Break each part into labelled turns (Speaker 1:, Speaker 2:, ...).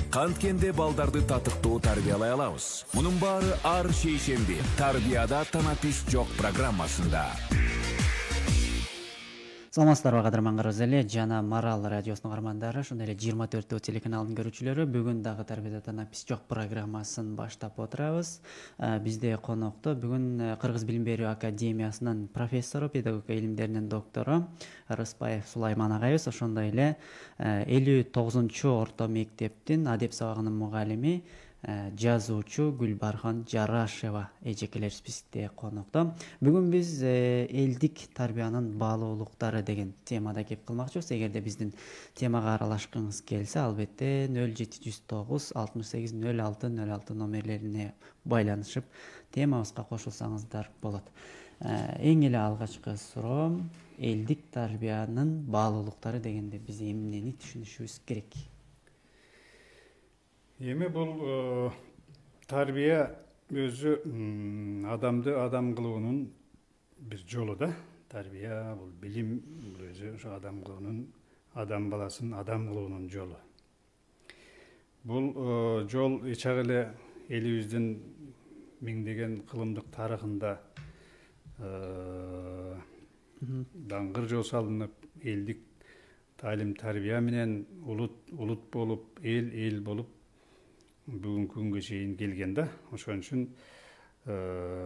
Speaker 1: Канткенде балдарды татыктуу тарбиялай алабыз. Мунун баары ар шейшемби тарбияда танапис жок программасында.
Speaker 2: Саламатсыздарбы кадырман эле жана Марал радиосунун каармандары, ошондой эле 24 телеканалынын көрүүчүлөрү. Бүгүн дагы тарбияда танапис жок программасын баштап отурабыз. Бизде конокто бүгүн Кыргыз билим берүү академиясынын профессору, педагогика илимдеринин доктору Рыспаев Сулайман агайыбыз, ошондой эле 59-чу орто мектептин адеп сабагынын мугалими жазуучу Гүлбархан Жарашева эжекелерибиз бизде конокто. Бүгүн биз элдик тарбиянын баалуулуктары деген темада кеп кылмакчыбыз. Эгерде биздин темага аралашкыңыз келсе, албетте 0709 68 06 06 номерлерине байланышып темабызга кошулсаңыздар болот. Эң эле алгачкы суроо, элдик тарбиянын баалуулуктары дегенде биз эмнени түшүнүшүбүз керек?
Speaker 3: Эми бул тарбия өзү адамды адам кылуунун бир жолу да. Тарбия бул билим, бул өзү ошо адам кылуунун, адам баласын адам кылуунун жолу. Бул жол ичак эле элибиздин миңдеген кылымдык тарыхында даңгыр жол салынып, элдик таалим тарбия менен улут болуп, эл болуп бүгүнкү күнгө чейин келген да. Ошон үчүн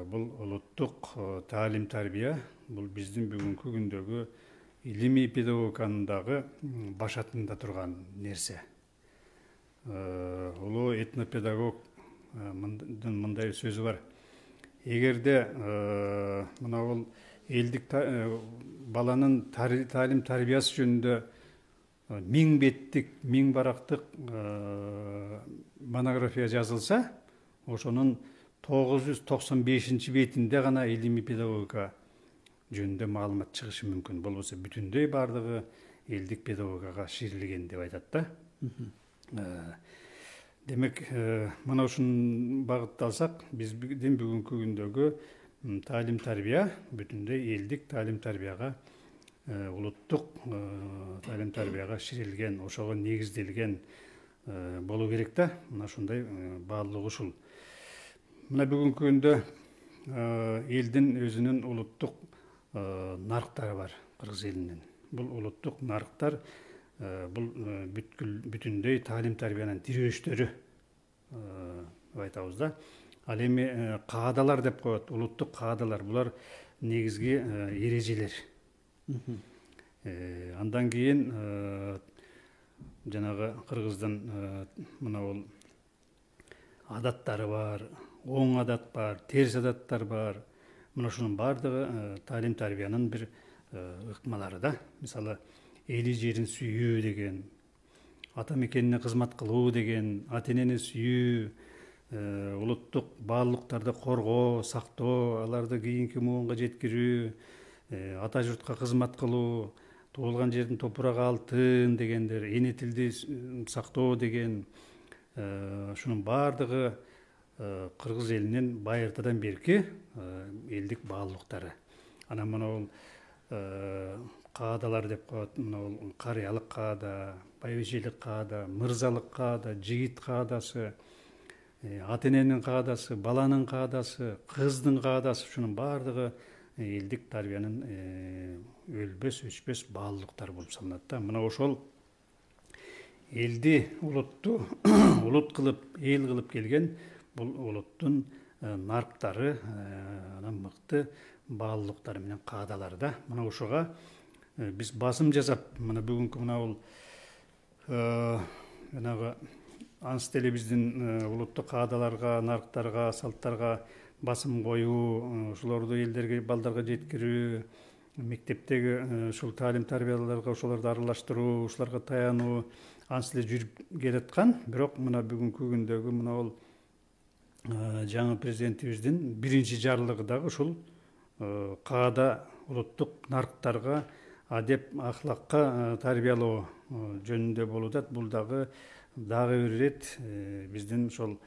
Speaker 3: бул улуттук таалим тарбия бул биздин бүгүнкү күндөгү илимий педагогиканын дагы башатында турган нерсе. Улуу этнопедагог мындай сөзү бар. Эгерде мына бул элдик баланын таалим тарбиясы жөнүндө 1000 беттик, 1000 барактык монография жазылса, ошонун 995 бетинде гана илимий педагогика жөнүндө маалымат чыгышы мүмкүн. Болбосо бүтүндөй бардыгы элдик педагогикага ширилген деп айтат да. Демек, мына ушун багытты алсак, биздин бүгүнкү күндөгү таалим тарбия бүтүндөй элдик таалим тарбияга, улуттук таалим тарбияга ширилген, ошого негизделген болуу керек да. Мына ушундай баалуулугу ушул. Мына бүгүнкү күндө элдин өзүнүн улуттук нарыктары бар, Кыргыз элинин. Бул улуттук нарыктар бул бүтүндөй таалим тарбиянын тирөөчтөрү деп айтабыз да. Ал эми каадалар деп коет, улуттук каадалар. Булар негизги эрежелер. Андан кийин жанагы Кыргыздын мына бул адаттары бар, оң адат бар, терс адаттар бар. Мына ушунун бардыгы таалим тарбиянын бир ыкмалары да. Мисалы, эли жерин сүйүү деген, ата мекенине кызмат кылуу деген, ата энени сүйүү, улуттук баалуулуктарды коргоо, сактоо, аларды кийинки муунга жеткирүү, ата журтка кызмат кылуу, туулган жердин топурагы алтын дегендер, эне тилди сактоо деген, ушунун бардыгы Кыргыз элинин байыртадан берки элдик баалуулуктары. Анан мына бул каадалар деп коет. Мына бул карыялык каада, байбичелик каада, мырзалык каада, жигит каадасы, ата эненин каадасы, баланын каадасы, кыздын каадасы, ушунун бардыгы элдик тарбиянын өлбөс өчпөс баалуулуктар болуп саналат да. Мына ошол элди, улутту улут кылып, эл кылып келген бул улуттун нарыктары, анан мыкты баалуулуктары менен каадалары да. Мына ошого биз басым жасап, мына бүгүнкү мына бул жанагы анс деле биздин улуттук каадаларга, нарыктарга, салттарга басым коюу, ошолорду элдерге, балдарга жеткирүү, мектептеги ушул таалим тарбияларга ошолорду аралаштыруу, ушуларга таянуу анс эле жүрүп келаткан. Бирок мына бүгүнкү күндөгү мына бул жаңы президентибиздин биринчи жарлыгы дагы ушул каада, улуттук нарыктарга, адеп ахлакка тарбиялоо жөнүндө болуп атат. Бул дагы бир ирет биздин ошол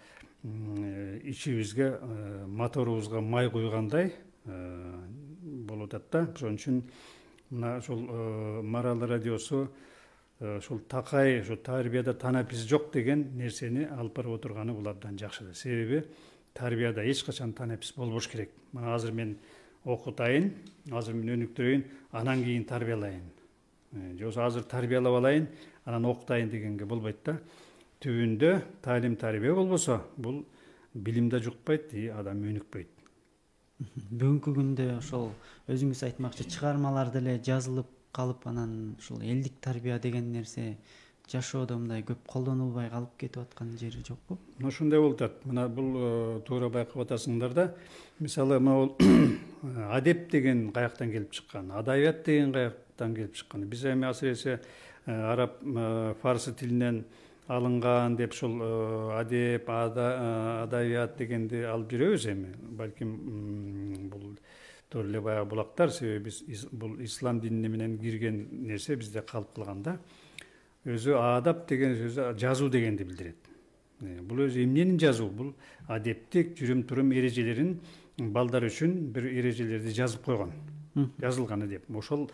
Speaker 3: ичибизге, моторубузга май куйгандай болуп атат да. Ошон үчүн мына ошол Марал радиосу ушул такай ушу тарбияда танапис жок деген нерсени алып барып отурганы бул абдан жакшы. Себеби тарбияда эч качан танапис болбош керек. Мына азыр мен окутайын, азыр мен өнүктүрөйүн, анан кийин тарбиялайын. Же болбосо азыр тарбиялап алайын, анан окутайын дегенге болбойт да. Түбүндө таалим тарбия болбосо, бул билим да жукпайт, адам өнүкпөйт.
Speaker 2: Бүгүнкү күндө ошол өзүңүз айтмакчы чыгармалар деле жазылып калып, анан ушул элдик тарбия деген нерсе жашоодо мындай көп колдонулбай калып кетип аткан жери жокпу?
Speaker 3: Ушундай болуп атат. Мына бул туура байкап атасыңдар да. Мисалы могул адеп деген каяктан келип чыккан, адабият деген каяктан келип чыккан. Биз эми асыресе араб фарсы тилинен алынган деп ушул адеп, адабият дегенди алып жүрөбүз эми. Балким бул туура эле баягы булактар, себеби бул ислам динине менен кирген нерсе бизде калып калган да. Өзү адап деген сөзү жазуу дегенди билдирет. Бул өзү эмненин жазуу? Бул адептик жүрүм-турум эрежелерин балдар үчүн бир эрежелерди жазып койгон. Жазылган адеп. Ошол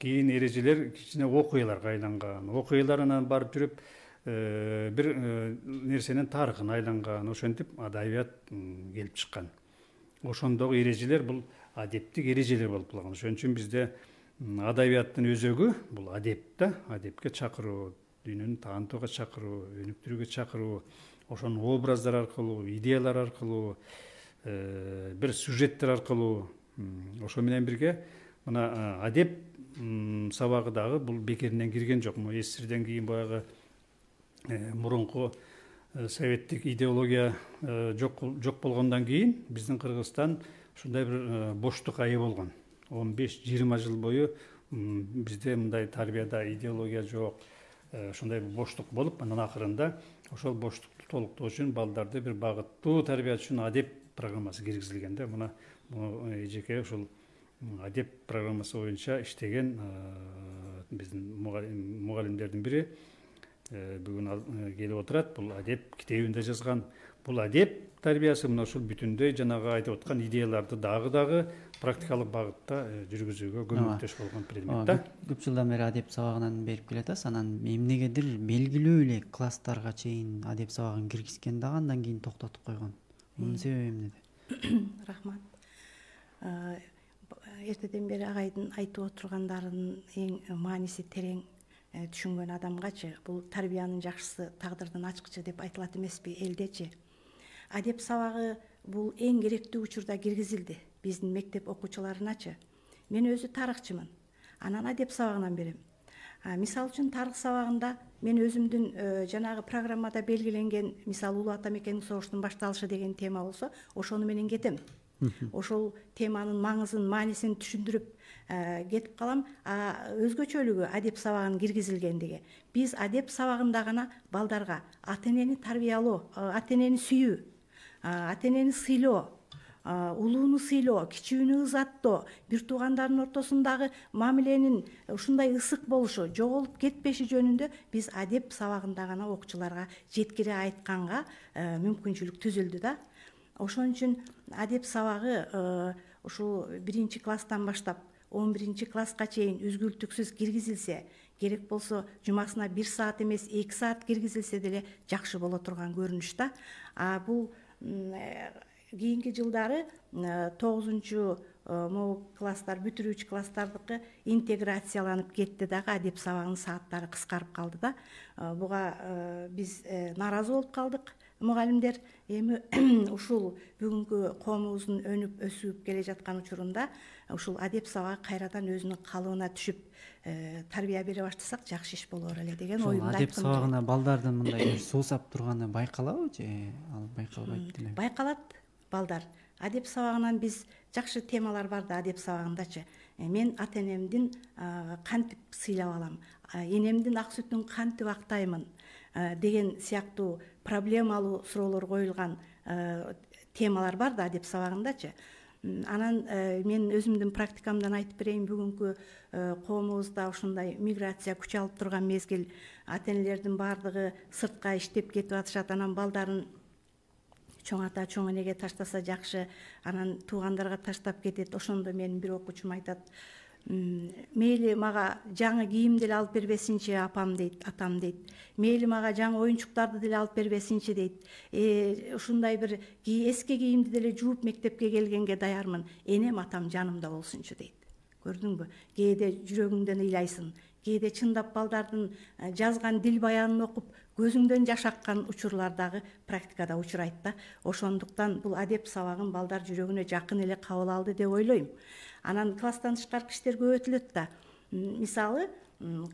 Speaker 3: кийин эрежелер кичине окуяларга айланган. Окуялар анан барып жүрүп бир нерсенин тарыхын айланган. Ошентип адабият келип чыккан. Ошондогу эрежелер бул адептик эрежелер болуп калган. Ошон үчүн бизде адабияттын өзөгү бул адеп да, адепке чакыруу, дүйнөнү таанытууга чакыруу, өнүктүрүүгө чакыруу, ошонун образдар аркылуу, идеялар аркылуу, бир сюжеттер аркылуу, ошо менен бирге мына адеп сабагы дагы бул бекеринен кирген жок. СССРден кийин баягы мурунку советтик идеология жок болгондон кийин биздин Кыргызстан ушундай бир боштукка ээ болгон. 15-20 жыл бою бизде мындай тарбияда идеология жок, ушундай боштук болуп, анан акырында ошол боштукту толуктоо үчүн балдарды бир багыттуу тарбия үчүн адеп программасы киргизилген да. Мына эжеке ушул адеп программасы боюнча иштеген биздин мугалимдердин бири бүгүн келип отурат. Бул адеп китебинде жазган. Бул адеп тарбиясы мына ушул бүтүндөй жанагы айтып аткан идеяларды дагы практикалык багытта жүргүзүүгө көмөктөш болгон предмет да.
Speaker 2: Көп жылдан бери адеп сабагынан берип келатасыз. Анан эмнегедир белгилүү эле класстарга чейин адеп сабагын киргизген дагы андан кийин токтотуп койгон. Мунун себеби эмнеде?
Speaker 4: Рахмат. Эртеден бери агайдын айтып отургандарынын эң мааниси терең түшүнгөн адамгачы бул тарбиянын жакшысы тагдырдын ачкычы деп айтылат эмеспи элдечи. Адеп сабагы бул эң керектүү учурда киргизилди биздин мектеп окуучуларыначы. Мен өзү тарыхчымын. Анан адеп сабагынан берем. Мисал үчүн тарых сабагында мен өзүмдүн жанагы программада белгиленген, мисалы Улуу Ата Мекендик согуштун башталышы деген тема болсо, ошону менен кетем. Ошол теманын маңызын, маанисин түшүндүрүп кетип калам. Өзгөчөлүгү адеп сабагынын киргизилгендиги. Биз адеп сабагында гана балдарга ата энени тарбиялоо, ата энени сүйүү, ата энени сыйлоо, улууну сыйлоо, кичүүнү ызаттоо, бир туугандардын ортосундагы мамиленин ушундай ысык болушу, жоголуп кетпеши жөнүндө биз адеп сабагында гана окуучуларга жеткире айтканга мүмкүнчүлүк түзүлдү да. Ошон үчүн адеп сабагы ушул 1-класстан баштап 11-класска чейин үзгүлтүксүз киргизилсе, керек болсо жумасына 1 саат эмес 2 саат киргизилсе деле жакшы боло турган көрүнүш да. Бул кийинки жылдары 9 класстар, бүтүрүүчү класстардыкы интеграцияланып кетти дагы, адеп сабагынын сааттары кыскарып калды да. Буга биз нааразы болуп калдык. Мугалимдер эми ушул бүгүнкү коомубуздун өнүп өсүп келе жаткан учурунда ушул адеп сабагы кайрадан өзүнүн калыбына түшүп тарбия бере баштасак жакшы иш болор эле деген оюмду айткым келет.
Speaker 2: Адеп сабагына балдардын мындай суусап турганы байкалабы же ал байкалбайт деле?
Speaker 4: Байкалат балдар. Адеп сабагынан биз жакшы темалар бар да адеп сабагындачы. Мен ата энемдин кантип сыйлап алам, энемдин ак сүтүн кантип актаймын деген сыяктуу проблемалуу суроолор коюлган темалар бар да адеп сабагындачы. Анан мен өзүмдүн практикамдан айтып берейин, бүгүнкү коомубузда ушундай миграция күч алып турган мезгил, ата энелердин баардыгы сыртка иштеп кетип атышат, анан балдарын чоң ата чоң энеге таштаса жакшы, анан туугандарга таштап кетет. Ошондо менин бир окуучум айтат, мейли мага жаңы кийим деле алып бербесинчи апам дейт, атам дейт. Мейли мага жаңы оюнчуктарды деле алып бербесинчи дейт. Ушундай бир эски кийимди деле жууп мектепке келгенге даярмын. Энем атам жанымда болсунчу дейт. Көрдүңбү? Кээде жүрөгүңдөн ыйлайсың. Кээде чындап балдардын жазган дил баянын окуп көзүңдөн жаш аккан учурлар дагы практикада учурайт да. Ошондуктан бул адеп сабагын балдар жүрөгүнө жакын эле кабыл алды деп ойлойм. Анан класстан тышкаркы иштер көп өтүлөт да. Мисалы,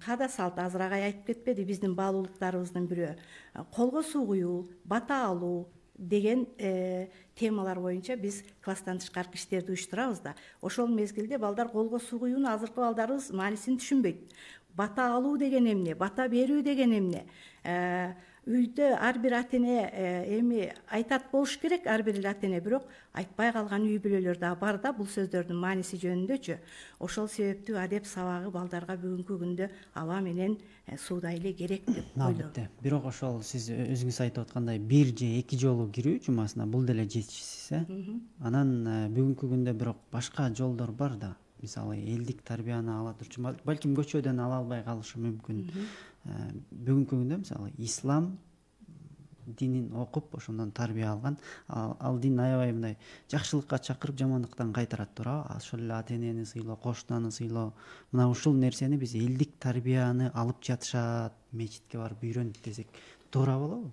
Speaker 4: каада салт азырагай айтып кетпеди, биздин баалуулуктарыбыздын бирөө колго суу куюу, бата алуу деген темалар боюнча биз класстан тышкаркы иштерди уюштурабыз да. Ошол мезгилде балдар колго суу куюунун азыркы балдарыбыз маанисин түшүнбөйт. Бата алуу деген эмне, бата берүү деген эмне? Үйдө ар бир ата эне эми айтат болуш керек, ар бир ата эне, бирок айтпай калган үй бүлөлөр да бар да бул сөздөрдүн мааниси жөнүндөчү. Ошол себептүү адеп сабагы балдарга бүгүнкү күндө аба менен суудай эле керек деп ойлойм.
Speaker 2: Албетте. Бирок ошол сиз өзүңүз айтып аткандай бир же эки жолу кирүү жумасына бул деле жетишсиз, Анан бүгүнкү күндө бирок башка жолдор бар да. Мисалы, элдик тарбияны ала турчу, балким көчөдөн ала албай калышы мүмкүн. Бүгүнкү күндө мисалы ислам динин окуп ошондон тарбия алган, ал дин аябай мындай жакшылыкка чакырып, жамандыктан кайтарат туурабы? Ошол эле ата энени сыйлоо, кошунаны сыйлоо, мына ушул нерсени биз элдик тарбияны алып жатышат, мечитке барып үйрөндүк десек туура болобу?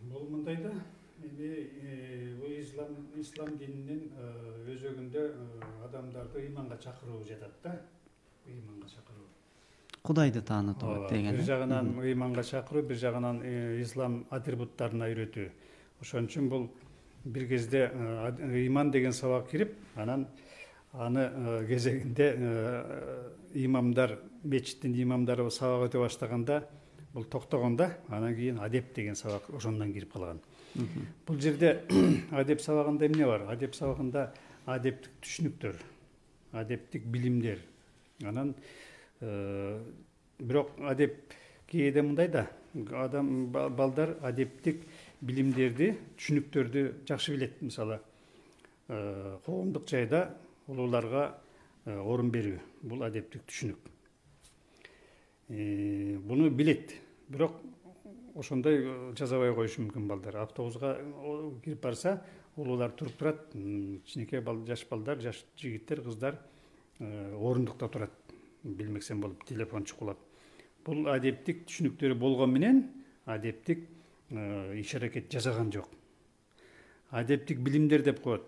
Speaker 3: Бул мындай да, бул ислам дининин өзөгүндө адамдарды ыйманга чакыруу жатат да. Ыйманга чакыруу.
Speaker 2: Кудайды таанытуу деген.
Speaker 3: Бир жагынан ыйманга чакыруу, бир жагынан ислам атрибуттарына үйрөтүү. Ошон үчүн бул бир кезде ыйман деген сабак кирип, анан аны кезегинде имамдар, мечиттин имамдары сабак өтө баштаганда бул токтогондо, анан кийин адеп деген сабак ошондон кирип калган. Бул жерде адеп сабагында эмне бар? Адеп сабагында адептик түшүнүктөр, адептик билимдер. Анан бирок адеп кээде мындай да, балдар адептик билимдерди, түшүнүктөрдү жакшы билет. Мисалы, коомдук жайда улууларга орун берүү, бул адептик түшүнүк. Буну билет, бирок ошондой жасабай коюшу мүмкүн балдар. Автобуска кирип барса, улуулар туруп турат, кичинекей жаш балдар, жаш жигиттер, кыздар орундукта турат. Билмексен болуп, телефон чукулап. Бул адептик түшүнүктөрү болгон менен адептик иш-аракет жасаган жок. Адептик билимдер деп коет.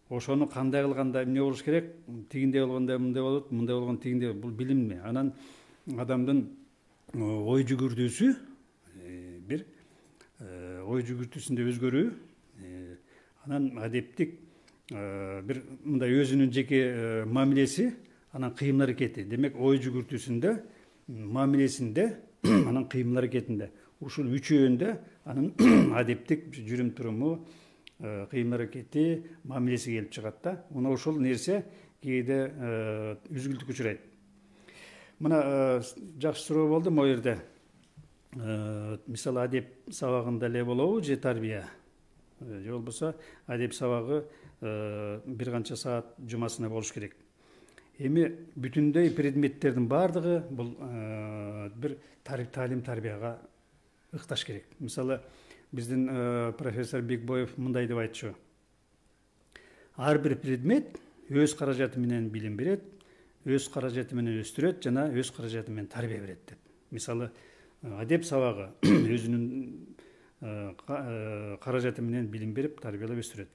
Speaker 3: Ошону кандай кылганда эмне болуш керек? Тигиндей болгондо мындай болот, мындай болгондо тигиндей. Бул билимми? Анан адамдын ой жүгүртүүсү бир ой жүгүртүүсүндө өзгөрүү, анан адептик бир мындай өзүнүн жеке мамилеси, анан кыймыл аракети. Демек, ой жүгүртүүсүндө, мамилесинде, анан кыймыл аракетинде, ушул үчөөндө анын адептик жүрүм туруму, кыймыл аракети, мамилеси келип чыгат да. Мына ошол нерсе кээде үзгүлтүккө учурайт. Мына жакшы суроо болду могу жерде. Мисалы, адеп сабагында эле болобу же тарбия? Же болбосо адеп сабагы бир канча саат жумасына болуш керек. Эми бүтүндөй предметтердин баардыгы бул бир таалим тарбияга ыкташ керек. Мисалы, биздин профессор Бекбоев мындай деп айтчу: ар бир предмет өз каражаты менен билим берет, өз каражаты менен өстүрөт жана өз каражаты менен тарбия берет деп. Мисалы, адеп сабагы өзүнүн каражаты менен билим берип, тарбиялап өстүрөт.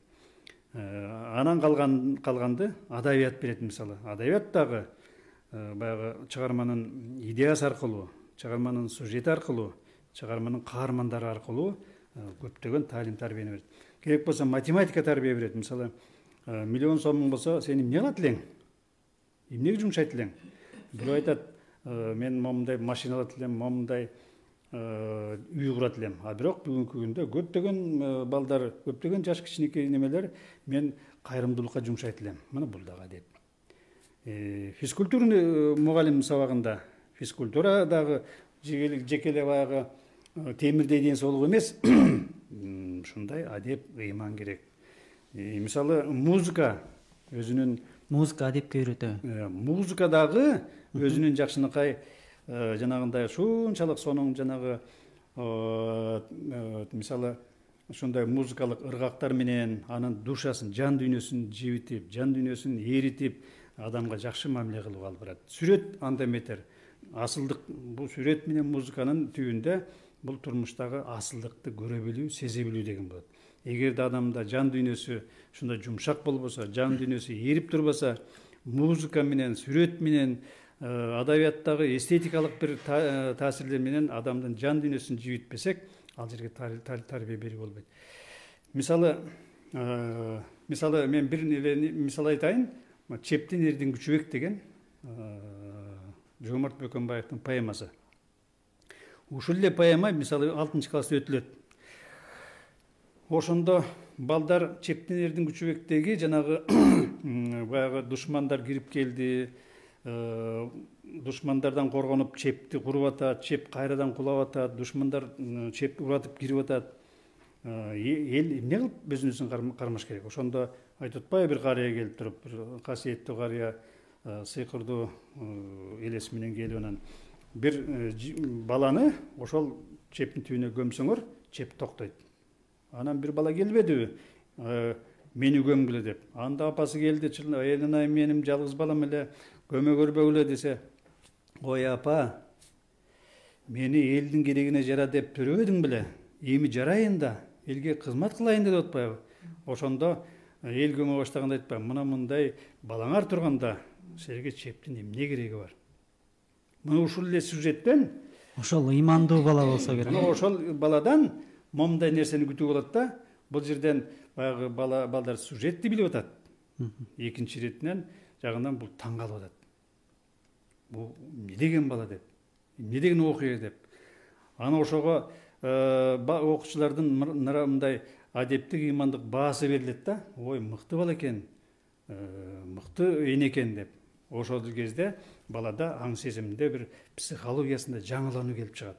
Speaker 3: Анан калганды адабият берет. Мисалы, адабият дагы баягы чыгарманын идеясы аркылуу, чыгарманын сюжети аркылуу, чыгарманын каармандары аркылуу көптөгөн таалим тарбияны берет. Керек болсо математика тарбия берет. Мисалы, миллион сомуң болсо, сен эмне кылат элең? Эмнеге жумшайт элең? Бирөө айтат, мен момундай машина алат элем, момундай үй курат элем. А бирок бүгүнкү күндө көптөгөн балдар, көптөгөн жаш кичинекей немелер мен кайрымдуулукка жумшайт элем. Мына бул дагы адеп. Физкультура мугалим сабагында, физкультура дагы жеке эле баягы темирдей ден соолук эмес. Ушундай адеп, ыйман керек. Мисалы, музыка өзүнүн
Speaker 2: Музыка адепке үйрөтөбү?
Speaker 3: Музыка дагы өзүнүн жакшынакай жанагындай ушунчалык сонун жанагы мисалы ушундай музыкалык ыргактар менен анын душасын, жан дүйнөсүн жибитип, жан дүйнөсүн эритип адамга жакшы мамиле кылып алып барат. Сүрөт анда метер. Асылдык бул сүрөт менен музыканын түбүндө бул турмуштагы асылдыкты көрө билүү, сезе билүү деген болот. Эгерде адамда жан дүйнөсү ушундай жумшак болбосо, жан дүйнөсү эрип турбаса, музыка менен, сүрөт менен, адабияттагы эстетикалык бир таасирлер менен адамдын жан дүйнөсүн жибитпесек, ал жерге тарбия берүү болбойт. Мисалы мен бир мисал айтайын. Чептин эрдин күчүбек деген Жомарт Бөкөнбаевдин поэмасы. Ушул эле поэма мисалы 6-класста өтүлөт. Ошондо балдар Чептин эрдин күчүбектеги жанагы баягы душмандар кирип келди, душмандардан коргонуп чепти куруп атат, чеп кайрадан кулап атат, душмандар чепти уратып кирип атат. Эл эмне кылып өзүнүн кармаш керек? Ошондо айтып атпайбы бир карыя келип туруп, бир касиеттүү карыя сыйкырдуу элес менен келип анан бир баланы ошол чептин түбүнө көмсөңөр, чеп токтойт. Анан бир бала келбедиби? Мени көмгүлө деп. Анда апасы келди, "Элинай, менин жалгыз балам эле, көмө көрбөгүлө" десе, "Ой апа, мени элдин керегине жара деп төрөбөдүң беле? Эми жарайын да, элге кызмат кылайын деп атпайбы?" Ошондо эл көмө баштаганда айтпайбы, "Мына мындай балаңар турганда силерге чептин эмне кереги бар?" Мына ушул эле сюжеттен
Speaker 2: Ошол ыймандуу бала болсо керек.
Speaker 3: Ошол баладан момундай нерсени күтүүгө болот да. Бул жерден баягы балдар сюжетти билип атат. Экинчи иретинен жагынан бул таң калып атат. Бул эмне деген бала деп, эмне деген окуя деп. Аны ошого окуучулардын мындай адептик, ыймандык баасы берилет да. Ой, мыкты бала экен, мыкты эне экен деп. Ошол кезде балада аң сезиминде бир психологиясында жаңылануу келип чыгат.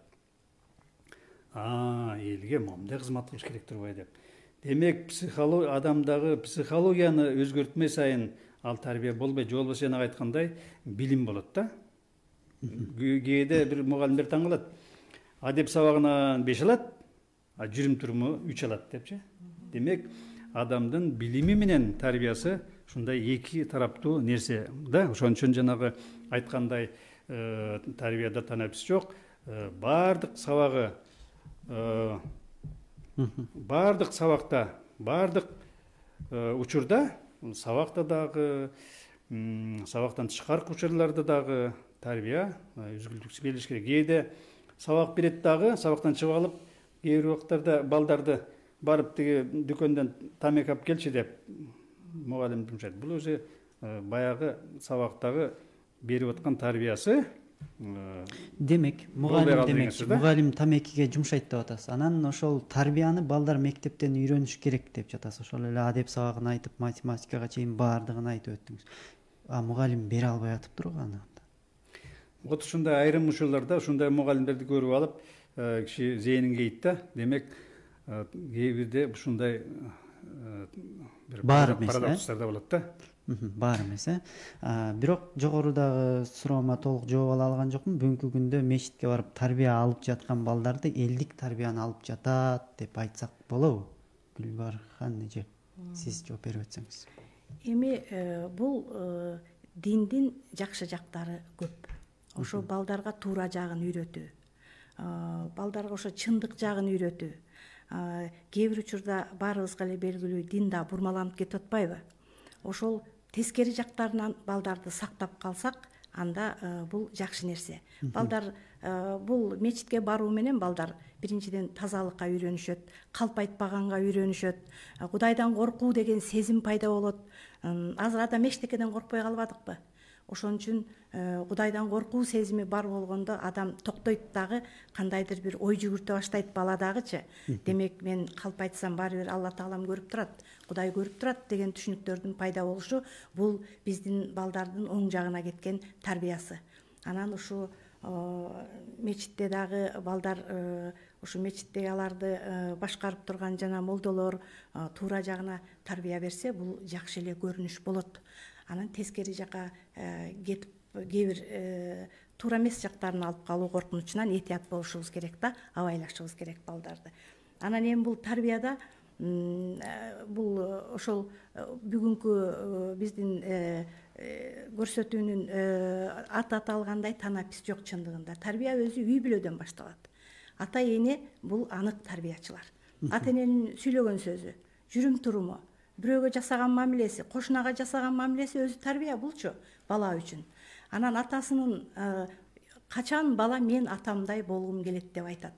Speaker 3: Элге момундай кызмат кылыш керек турбайбы деп. Демек, адамдагы психологияны өзгөртмөй сайын ал тарбия болбойт. Же болбосо жана айткандай билим болот да. Кээде бир мугалимдер таң калат. Адеп сабагынан 5 алат, жүрүм туруму 3 алат депчи. Демек, адамдын билими менен тарбиясы ушундай эки тараптуу нерсе да. Ошон үчүн жанагы айткандай тарбияда танапис жок. Бардык сабагы бардык сабакта, бардык учурда, сабакта дагы, сабактан тышкаркы учурларда дагы тарбия үзгүлтүксүз берилиш керек. Кээде сабак берет дагы, сабактан чыгып алып, кээ бир убактарда балдарды барып тиги дүкөндөн тамеки алып келчи деп мугалим жумшайт. Бул өзү баягы сабактагы берип аткан тарбиясы.
Speaker 2: Демек, мугалим тамекиге жумшайт деп атасыз. Анан ошол тарбияны балдар мектептен үйрөнүш керек деп жатасыз. Ошол эле адеп сабагын айтып, математикага чейин баардыгын айтып өттүңүз. Мугалим бере албай атыптыр го аны.
Speaker 3: Вот ушундай айрым учурларда ушундай мугалимдерди көрүп алып, киши зээнин кейт да. Демек, кээ бирде ушундай бир парадокстар да болот да.
Speaker 2: Бар эмес, Бирок жогорудагы суроома толук жооп ала алган жокмун. Бүгүнкү күндө мечитке барып тарбия алып жаткан балдарды элдик тарбияны алып жатат деп айтсак болобу? Гүлбархан эже, сиз жооп берип өтсөңүз.
Speaker 4: Эми бул диндин жакшы жактары көп. Ошо балдарга туура жагын үйрөтүү, балдарга ошо чындык жагын үйрөтүү. Кээ бир учурда баарыбызга эле белгилүү дин да бурмаланып кетип атпайбы? Ошол тескери жактарынан балдарды сактап калсак, анда бул жакшы нерсе. Балдар бул мечитке баруу менен балдар биринчиден тазалыкка үйрөнүшөт, калп айтпаганга үйрөнүшөт, Кудайдан коркуу деген сезим пайда болот. Азыр адам эчтекеден коркпой калбадыкпы? Ошон үчүн Кудайдан коркуу сезими бар болгондо адам токтойт дагы, кандайдыр бир ой жүгүртө баштайт баладагычы. Демек, мен калп айтсам баары бир Алла Таалам көрүп турат, Кудай көрүп турат деген түшүнүктөрдүн пайда болушу бул биздин балдардын оң жагына кеткен тарбиясы. Анан ушу мечитте дагы балдар, ушу мечиттеги аларды башкарып турган жана молдолор туура жагына тарбия берсе, бул жакшы эле көрүнүш болот. анан тескери жака кетип кээ бир туура эмес жактарын алып калуу коркунучунан этият болушубуз керек да, абайлашыбыз керек балдарды. Анан эми бул тарбияда бул ошол бүгүнкү биздин көрсөтүүнүн аты аталгандай танапис жок. Чындыгында тарбия өзү үй бүлөдөн башталат. Ата эне бул анык тарбиячылар. Ата эненин сүйлөгөн сөзү, жүрүм туруму, бирөөгө жасаган мамилеси, кошунага жасаган мамилеси өзү тарбия булчу бала үчүн. Анан атасынын качан бала мен атамдай болгум келет деп айтат.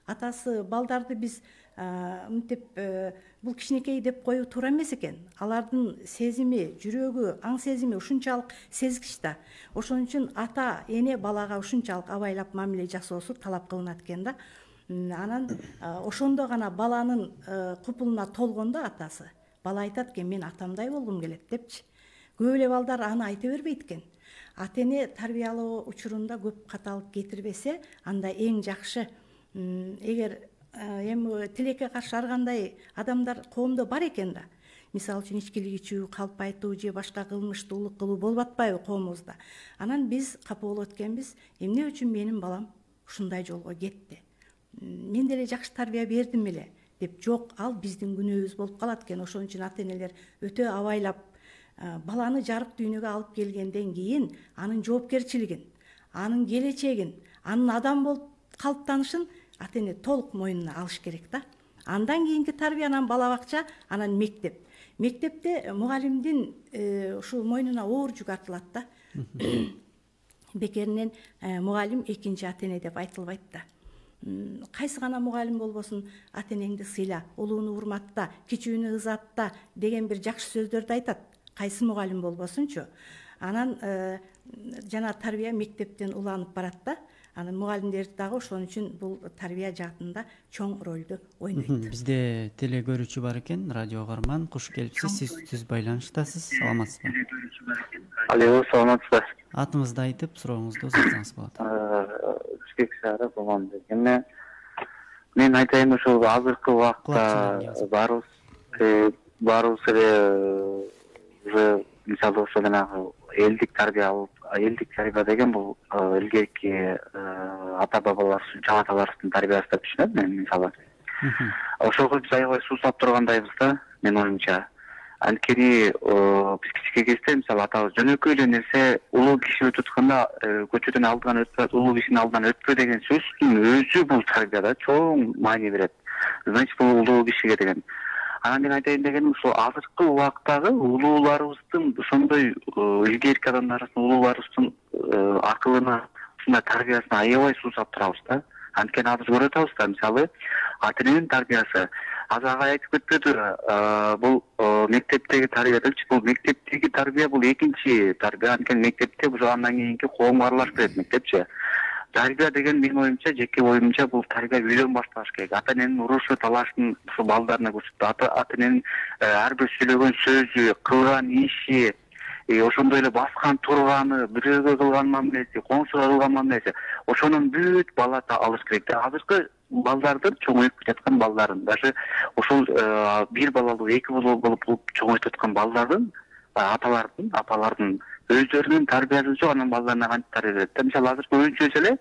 Speaker 4: Атасы балдарды биз мынтип бул кичинекей деп коюу туура эмес экен. Алардын сезими, жүрөгү, аң сезими ушунчалык сезгич да. Ошон үчүн ата эне балага ушунчалык абайлап мамиле жасоосу талап кылынат экен да. Анан ошондо гана баланын купулуна толгондо атасы бала айтат экен, мен атамдай болгум келет депчи. Көп эле балдар аны айта бербейт экен. Ата эне тарбиялоо учурунда көп каталык кетирбесе, анда эң жакшы. Эгер эми тилекке каршы ар кандай адамдар коомдо бар экен да. Мисалы үчүн ичкилик ичүү, калп айтуу же башка кылмыштуулук кылуу болуп атпайбы коомубузда. Анан биз капа болот экенбиз, эмне үчүн менин балам ушундай жолго кетти? Мен деле жакшы тарбия бердим эле деп. Жок, ал биздин күнөөбүз болуп калат экен. Ошон үчүн ата энелер өтө абайлап баланы жарык дүйнөгө алып келгенден кийин анын жоопкерчилигин, анын келечегин, анын адам болуп калыптанышын ата эне толук мойнуна алыш керек да. Андан кийинки тарбия, анан бала бакча, анан мектеп. Мектепте мугалимдин ушул мойнуна оор жүк артылат да. Бекеринен мугалим экинчи ата эне деп айтылбайт да. Кайсы гана мугалим болбосун, ата энеңди сыйла, улууну урматта, кичүүнү ызатта деген бир жакшы сөздөрдү айтат. Кайсы мугалим болбосунчу. Анан жана тарбия мектептен уланып барат да. Анан мугалимдер дагы ошон үчүн бул тарбия жаатында чоң ролду ойнойт.
Speaker 2: Бизде теле көрүүчү бар экен, радио каарман. Куш келипсиз, сиз түз байланыштасыз. Саламатсызбы?
Speaker 5: Алло, саламатсызбы?
Speaker 2: Атыңызды айтып, сурооңузду узатсаңыз болот.
Speaker 5: Бишкек шаары болгон дегенде мен айтайын, ошол азыркы убакта баарыбыз эле уже мисалы ошо жанагы элдик тарбия деген бул илгерки ата бабаларыбыз, чаң аталарыбыздын тарбиясы деп түшүнөм мен мисалы. Ошого биз аябай суусап тургандайбыз да, менин оюмча. Анткени биз кичине кезде мисалы атабыз жөнөкөй эле нерсе, улуу киши өтүп атканда көчөдөн алдынан өтпө, улуу кишинин алдынан өтпө деген сөздүн өзү бул тарбияда чоң маани берет. Значит, бул улуу кишиге деген. Анан мен айтайын дегеним, ушул азыркы убактагы улууларыбыздын ошондой илгерки адамдарыбыздын, улууларыбыздын акылына, ушундай тарбиясына аябай суусап турабыз да. Анткени азыр көрүп атабыз да, мисалы, ата эненин тарбиясы. Азыр ага айтып кетпедиби, бул мектептеги тарбия депчи, бул мектептеги тарбия бул экинчи тарбия. Анткени мектепте ошо андан кийинки коомго аралашып берет мектепчи. Тарбия деген менин оюмча, жеке оюмча, бул тарбия үйдөн башталыш керек. Ата эненин урушу, талашын ушул балдарына көрсөтүп, ата эненин ар бир сүйлөгөн сөзү, кылган иши, ошондой эле баскан турганы, бирөөгө кылган мамилеси, коңшуга кылган мамилеси, ошонун бүт бала алыш керек. Азыркы балдардын, чоңоюп жаткан балдардын, даже ошол бир балалуу, эки балалуу болуп чоңоюп жаткан балдардын, аталардын, апалардын өздөрүнүн тарбиясы жок, анан балдарына кантип тарбия берет. Мисалы азыркы өзүнчө эле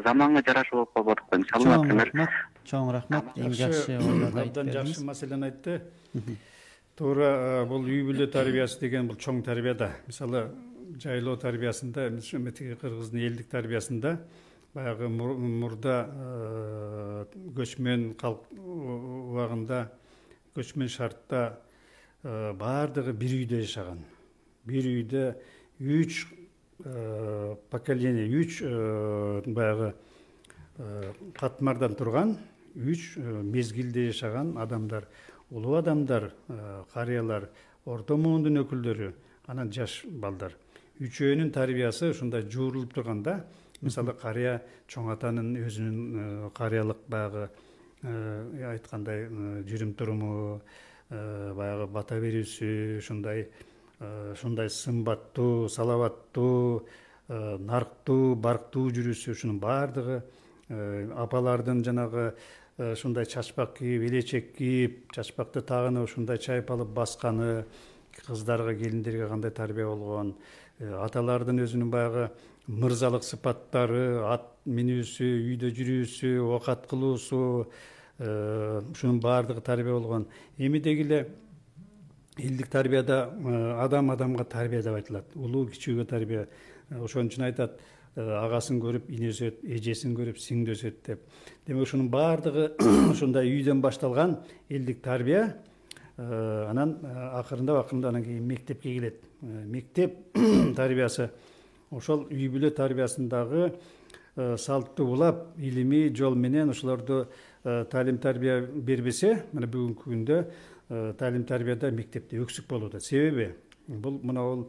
Speaker 5: заманга жараша болуп калып атат. Мисалы, например,
Speaker 2: чоң рахмат. Эң жакшы ойлорду айтып
Speaker 3: абдан жакшы маселени айтты. Туура, бул үй бүлө тарбиясы деген бул чоң тарбия да. Мисалы, жайлоо тарбиясында, метеги кыргыздын элдик тарбиясында баягы мурда көчмөн калк убагында, көчмөн шартта баардыгы бир үйдө жашаган. Бир үйдө 3 поколение, 3 баягы катмардан турган, 3 мезгилде жашаган адамдар, улуу адамдар, карыялар, орто муундун өкүлдөрү, анан жаш балдар. Үчөөнүн тарбиясы ушундай жуурулуп турганда, мисалы карыя чоң атанын өзүнүн карыялык баягы айткандай жүрүм туруму, баягы бата берүүсү, ушундай сымбаттуу, салаваттуу, нарктуу, барктуу жүрүүсү, ушунун баардыгы апалардын жанагы ушундай чачпак кийип, элечек кийип, чачпакты тагына ушундай чайпалып басканы, кыздарга, келиндерге кандай тарбия болгон, аталардын өзүнүн баягы мырзалык сыпаттары, ат минүүсү, үйдө жүрүүсү, оокат кылуусу, ушунун баардыгы тарбия болгон. Эми деги эле элдик тарбияда адам адамга тарбия деп айтылат. Улуу кичүүгө тарбия. Ошон үчүн айтат, агасын көрүп ине өсөт, эжесин көрүп сиңди өсөт деп. Демек ушунун баардыгы ушундай үйдөн башталган элдик тарбия. Анан акырындап анан кийин мектепке келет. Мектеп тарбиясы ошол үй бүлө тарбиясындагы салттуу улап, илимий жол менен ошолорду таалим тарбия бербесе, мына бүгүнкү күндө таалим тарбияда мектепте өксүк болуп атат. Себеби бул мына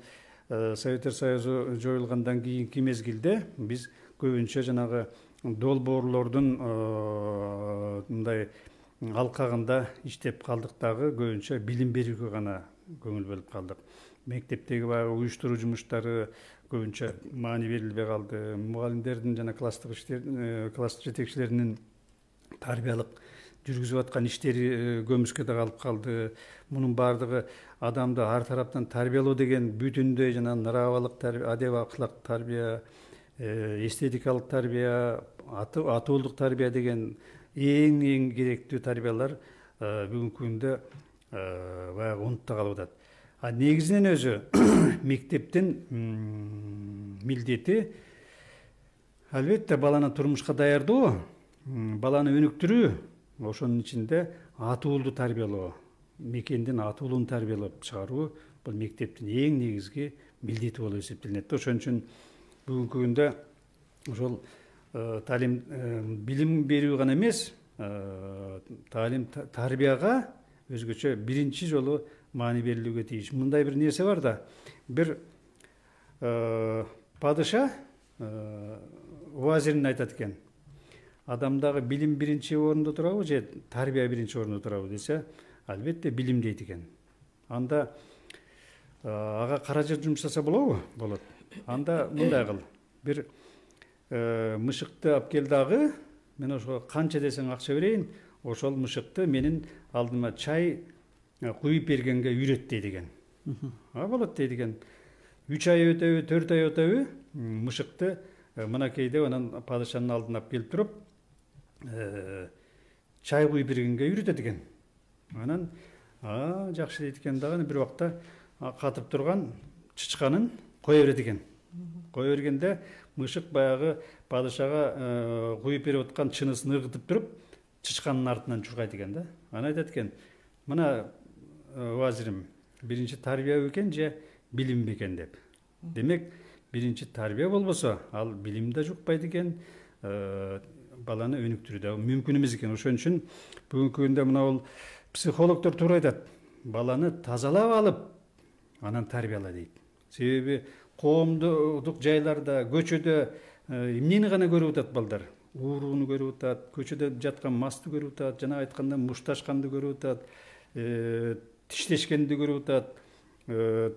Speaker 3: Советтер Союзу жоюлгандан кийинки мезгилде биз көбүнчө жанагы долбоорлордун мындай алкагында иштеп калдык дагы, көбүнчө билим берүүгө гана көңүл бөлүп калдык. Мектептеги баягы уюштуруу жумуштары көбүнчө маани берилбей калды. Мугалимдердин жана класс жетекчилеринин тарбиялык жүргүзүп аткан иштери көмүскө калып калды. Мунун баардыгы адамды ар тараптан тарбиялоо деген бүтүндөй жана нравалык тарбия, адеп акылак тарбия, эстетикалык тарбия, атуулук тарбия деген эң керектүү тарбиялар бүгүнкү күндө баягы унутта калып атат. А негизинен өзү мектептин милдети албетте баланы турмушка даярдоо, баланы өнүктүрүү, ошонун ичинде атуулду тарбиялоо, мекендин атуулун тарбиялап чыгаруу бул мектептин эң негизги милдети болуп эсептелинет. Ошон үчүн бүгүнкү күндө ошол таалим билим берүү гана эмес, таалим тарбияга өзгөчө биринчи жолу маани берилүүгө тийиш. Мындай бир нерсе бар да, бир падыша уазирин айтат экен. Адамдагы билим биринчи орунда турабы же тарбия биринчи орунда турабы десе, албетте билим дейт экен. Анда ага каражат жумшаса болобу? Болот. Анда мындай кыл. Бир мышыкты алып кел дагы, мен ошого канча десең акча берейин, ошол мышыкты менин алдыма чай куюп бергенге үйрөт дейт экен. Болот дейт экен. 3 ай өтөбү, 4 ай өтөбү, мышыкты мынакей деп анан падышанын алдына алып келип туруп, чай куюп бергенге үйрөтөт экен. Анан жакшы дейт экен дагы, бир убакта катып турган чычканын кое берет экен. Кое бергенде мышык баягы падышага куюп берип аткан чынысын ыргытып туруп, чычканын артынан чуркайт экен да. Анан айтат экен, мына уазирим, биринчи тарбия бекен же билим бекен деп. Демек, биринчи тарбия болбосо, ал билим да жукпайт экен, баланы өнүктүрүү да мүмкүн эмес экен. Ошон үчүн бүгүнкү күндө мына бул психологдор туура айтат. Баланы тазалап алып, анан тарбияла дейт. Себеби коомдук жайларда, көчөдө эмнени гана көрүп атат балдар? Урууну көрүп атат, көчөдө жаткан масты көрүп атат, жана айтканда мушташканды көрүп атат, тиштешкенди көрүп атат,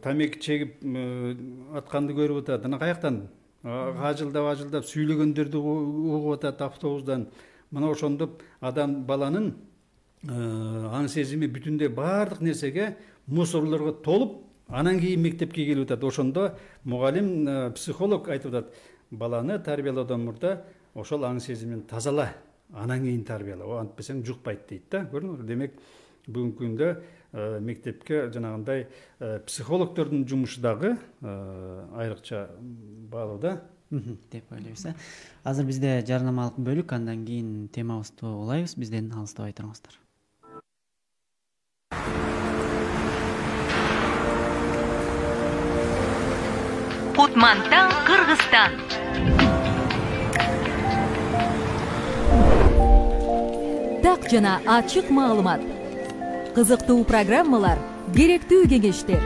Speaker 3: тамеки чегип атканды көрүп атат. Анан каяктан? Ажылдап сүйлөгөндөрдү угуп атат автобустан. Мына ошондоп адам баланын аң сезими бүтүндөй баардык нерсеге, мусорлорго толуп, анан кийин мектепке келип атат. Ошондо мугалим, психолог айтып атат, баланы тарбиялоодон мурда ошол аң сезимин тазала, анан кийин тарбияла. Антпесең жукпайт дейт да. Көрдүңүзбү? Демек, бүгүнкү күндө мектепке жанагындай психологдордун жумушу дагы айрыкча баалуу
Speaker 2: деп ойлойбуз. Азыр бизде жарнамалык бөлүк, андан кийин темабызды улайбыз. Бизден алыстабай туруңуздар.
Speaker 6: Кутмантан, Кыргызстан. Так жана ачык маалымат. Кызыктуу программалар, керектүү кеңештер.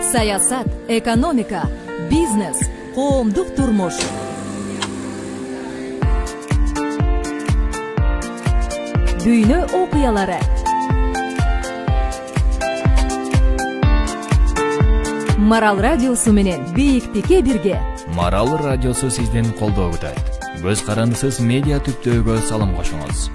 Speaker 6: Саясат, экономика, бизнес, коомдук турмуш. Дүйнө окуялары. Марал радиосу менен бийиктикке бирге.
Speaker 1: Марал радиосу сиздин колдоо күтөт. көз карандысыз медиа түптөөгө салым кошуңуз.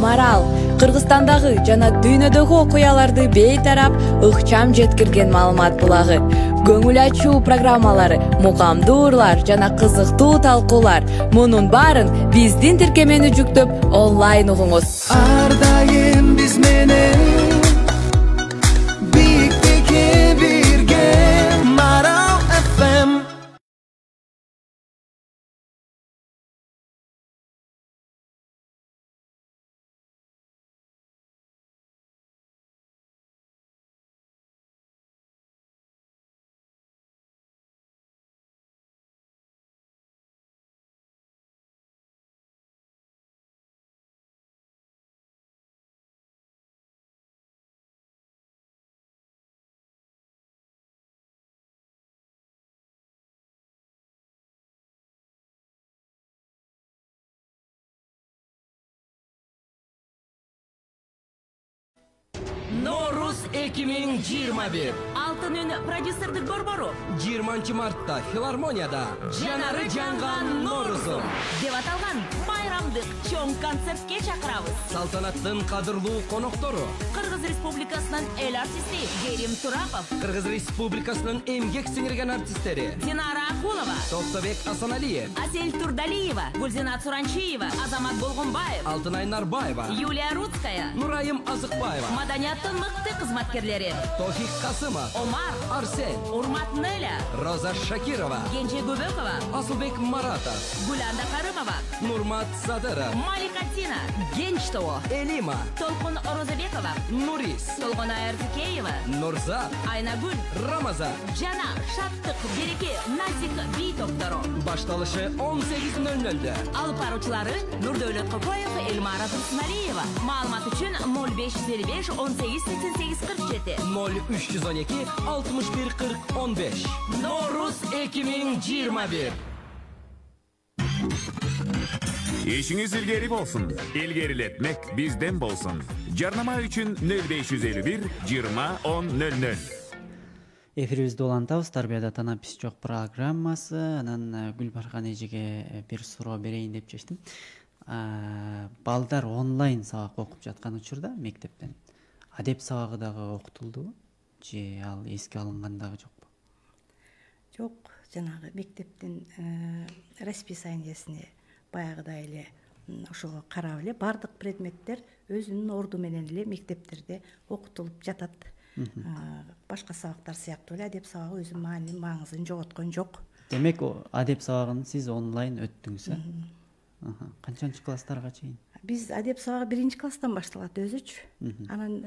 Speaker 7: Марал Кыргызстандагы жана дүйнөдөгү окуяларды бейтарап ыкчам жеткирген маалымат булагы. Көңүл ачуу программалары, мукамдуу урлар жана кызыктуу талкуулар. Мунун баарын биздин тиркемени жүктөп онлайн угуңуз.
Speaker 8: Ар дайым биз менен биктикке бирге Марал FM.
Speaker 9: Nooruz 2021.
Speaker 6: Алтын үн продюсердик борбору
Speaker 9: 20 мартта филармонияда жанары жанган Nooruzum
Speaker 6: деп аталган байрамдык чоң концертке чакырабыз.
Speaker 9: Салтанаттын кадырлуу коноктору
Speaker 6: Кыргыз Республикасынын эл артисти Керим Турапов,
Speaker 9: Кыргыз Республикасынын эмгек сиңирген артисттери
Speaker 6: Динара Акулова,
Speaker 9: Токтобек Асаналиев,
Speaker 6: Асель Турдалиева, Гүлзинат Суранчиева, Азамат Болгонбаев,
Speaker 9: Алтынай Нарбаева,
Speaker 6: Юлия Рудская,
Speaker 9: Нурайым Азыкбаева,
Speaker 6: маданияттын мыкты кызматкерлери
Speaker 9: Тофик Касымов,
Speaker 6: Омар,
Speaker 9: Арсен,
Speaker 6: Урмат Неля,
Speaker 9: Роза Шакирова,
Speaker 6: Кенже Көбөкова,
Speaker 9: Асылбек Маратов,
Speaker 6: Гүланда Карымова,
Speaker 9: Нурмат Садыров,
Speaker 6: Малика Тина, Генчтоо,
Speaker 9: Элима,
Speaker 6: Толкун Орозабекова,
Speaker 9: Нурис,
Speaker 6: Толгона Эрзикеева,
Speaker 9: Нурзат,
Speaker 6: Айнагүл,
Speaker 9: Рамазан.
Speaker 6: жана Шаттык, Береке, Назик би топтору.
Speaker 9: Башталышы 18:00.
Speaker 6: Алып баруучулары Нурдөөлөт Кокоев, Элмара Турсуналиева. Маалымат үчүн 0555 18 88 47.
Speaker 9: 0312 61 40 15. Nooruz 2021.
Speaker 1: Ишиңиз илгери болсун. Илгерилетмек бизден болсун. Жарнама үчүн 0551 20 10 00.
Speaker 2: Эфирибизди улантабыз. Тарбияда танапис жок программасы. Анан Гүлбархан эжеге бир суроо берейин деп чечтим. Балдар онлайн сабак окуп жаткан учурда мектептен адеп сабагы дагы окутулдубу? Же ал эске алынган дагы жокпу?
Speaker 4: Жок, жанагы мектептин расписаниесине баягыдай эле ошого карап эле бардык предметтер өзүнүн орду менен эле мектептерде окутулуп жатат. Башка сабактар сыяктуу эле адеп сабагы өзүнүн маңызын жоготкон жок.
Speaker 2: Демек, адеп сабагын сиз онлайн өттүңүз, э? Канчанчы класстарга чейин?
Speaker 4: Биз адеп сабагы 1-класстан башталат өзүчү. Анан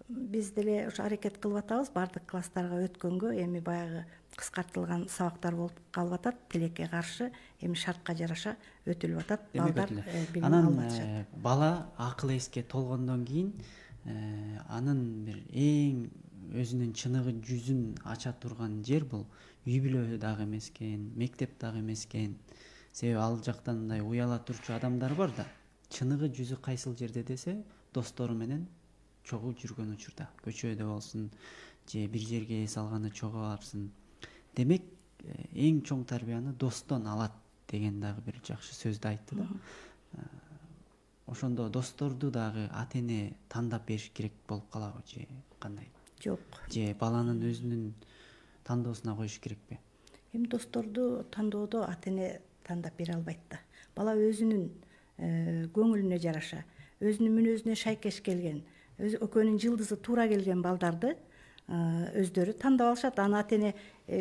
Speaker 4: биз деле ошо аракет кылып атабыз бардык класстарга өткөнгө. Эми баягы кыскартылган сабактар болуп калып атат. Тилекке каршы эми шартка жараша өтүлүп атат. Балдар билим алып атышат.
Speaker 2: Анан бала акыл эске толгондон кийин анын бир эң өзүнүн чыныгы жүзүн ача турган жер бул үй бүлө дагы эмес экен, мектеп дагы эмес экен. Себеби ал жактан мындай уяла турчу адамдар бар да. Чыныгы жүзү кайсыл жерде десе, достору менен чогуу жүргөн учурда, көчөдө болсун, же бир жерге эс алганда чогуу аларсың. Демек, эң чоң тарбияны достон алат деген дагы бир жакшы сөздү айтты да. Ошондо досторду дагы ата-эне тандап бериш керек болуп калабы же кандай?
Speaker 4: Жок.
Speaker 2: Же баланын өзүнүн тандоосуна коюш керекпи?
Speaker 4: Эми досторду тандоодо ата-эне тандап бере албайт да. Бала өзүнүн көңүлүнө жараша, өзүнүн мүнөзүнө шайкеш келген, экөөнүн жылдызы туура келген балдарды өздөрү тандап алышат. Аны ата-эне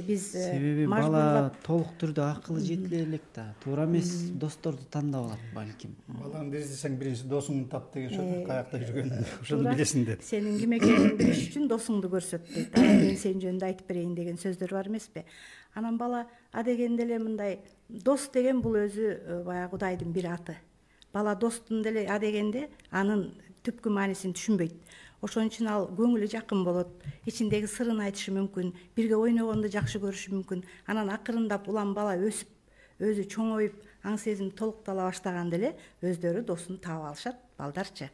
Speaker 4: биз
Speaker 2: себеби бала толук түрдө акылы жетиле элек да. Туура эмес досторду тандап алат балким.
Speaker 3: Баланы издесең биринчи досуңду тап деген сөз каякта жүргөнүн ошону билесиң деп.
Speaker 4: Сенин ким экениңди билиш үчүн досуңду көрсөт дейт. Мен сенин жөнүндө айтып берейин деген сөздөр бар эмеспи? Анан бала адегенде эле мындай дос деген бул өзү баягы Кудайдын бир аты. Бала достун деле адегенде анын түпкү маанисин түшүнбөйт. Ошон үчүн ал көңүлү жакын болот, ичиндеги сырын айтышы мүмкүн, бирге ойногонду жакшы көрүшү мүмкүн. Анан акырындап улам бала өсүп, өзү чоңоюп, аң сезим толуктала баштаганда эле өздөрү досун таап алышат, балдарчы.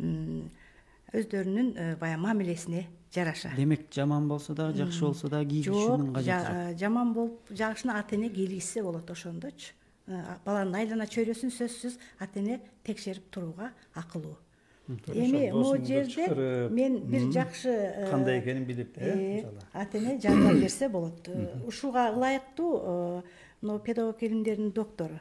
Speaker 4: Өздөрүнүн баягы мамилесине жараша.
Speaker 2: Демек жаман болсо да, жакшы болсо да кийгизүүнүн кажети жок.
Speaker 4: Жаман болуп жагышына ата эне кийлгизсе болот ошондочу. Баланын айлана чөйрөсүн сөзсүз ата эне текшерип турууга акылуу. Эми могу жерде мен бир жакшы
Speaker 3: кандай экенин билип мисалы
Speaker 4: ата эне жардам берсе болот. Ушуга ылайыктуу педагог илимдеринин доктору,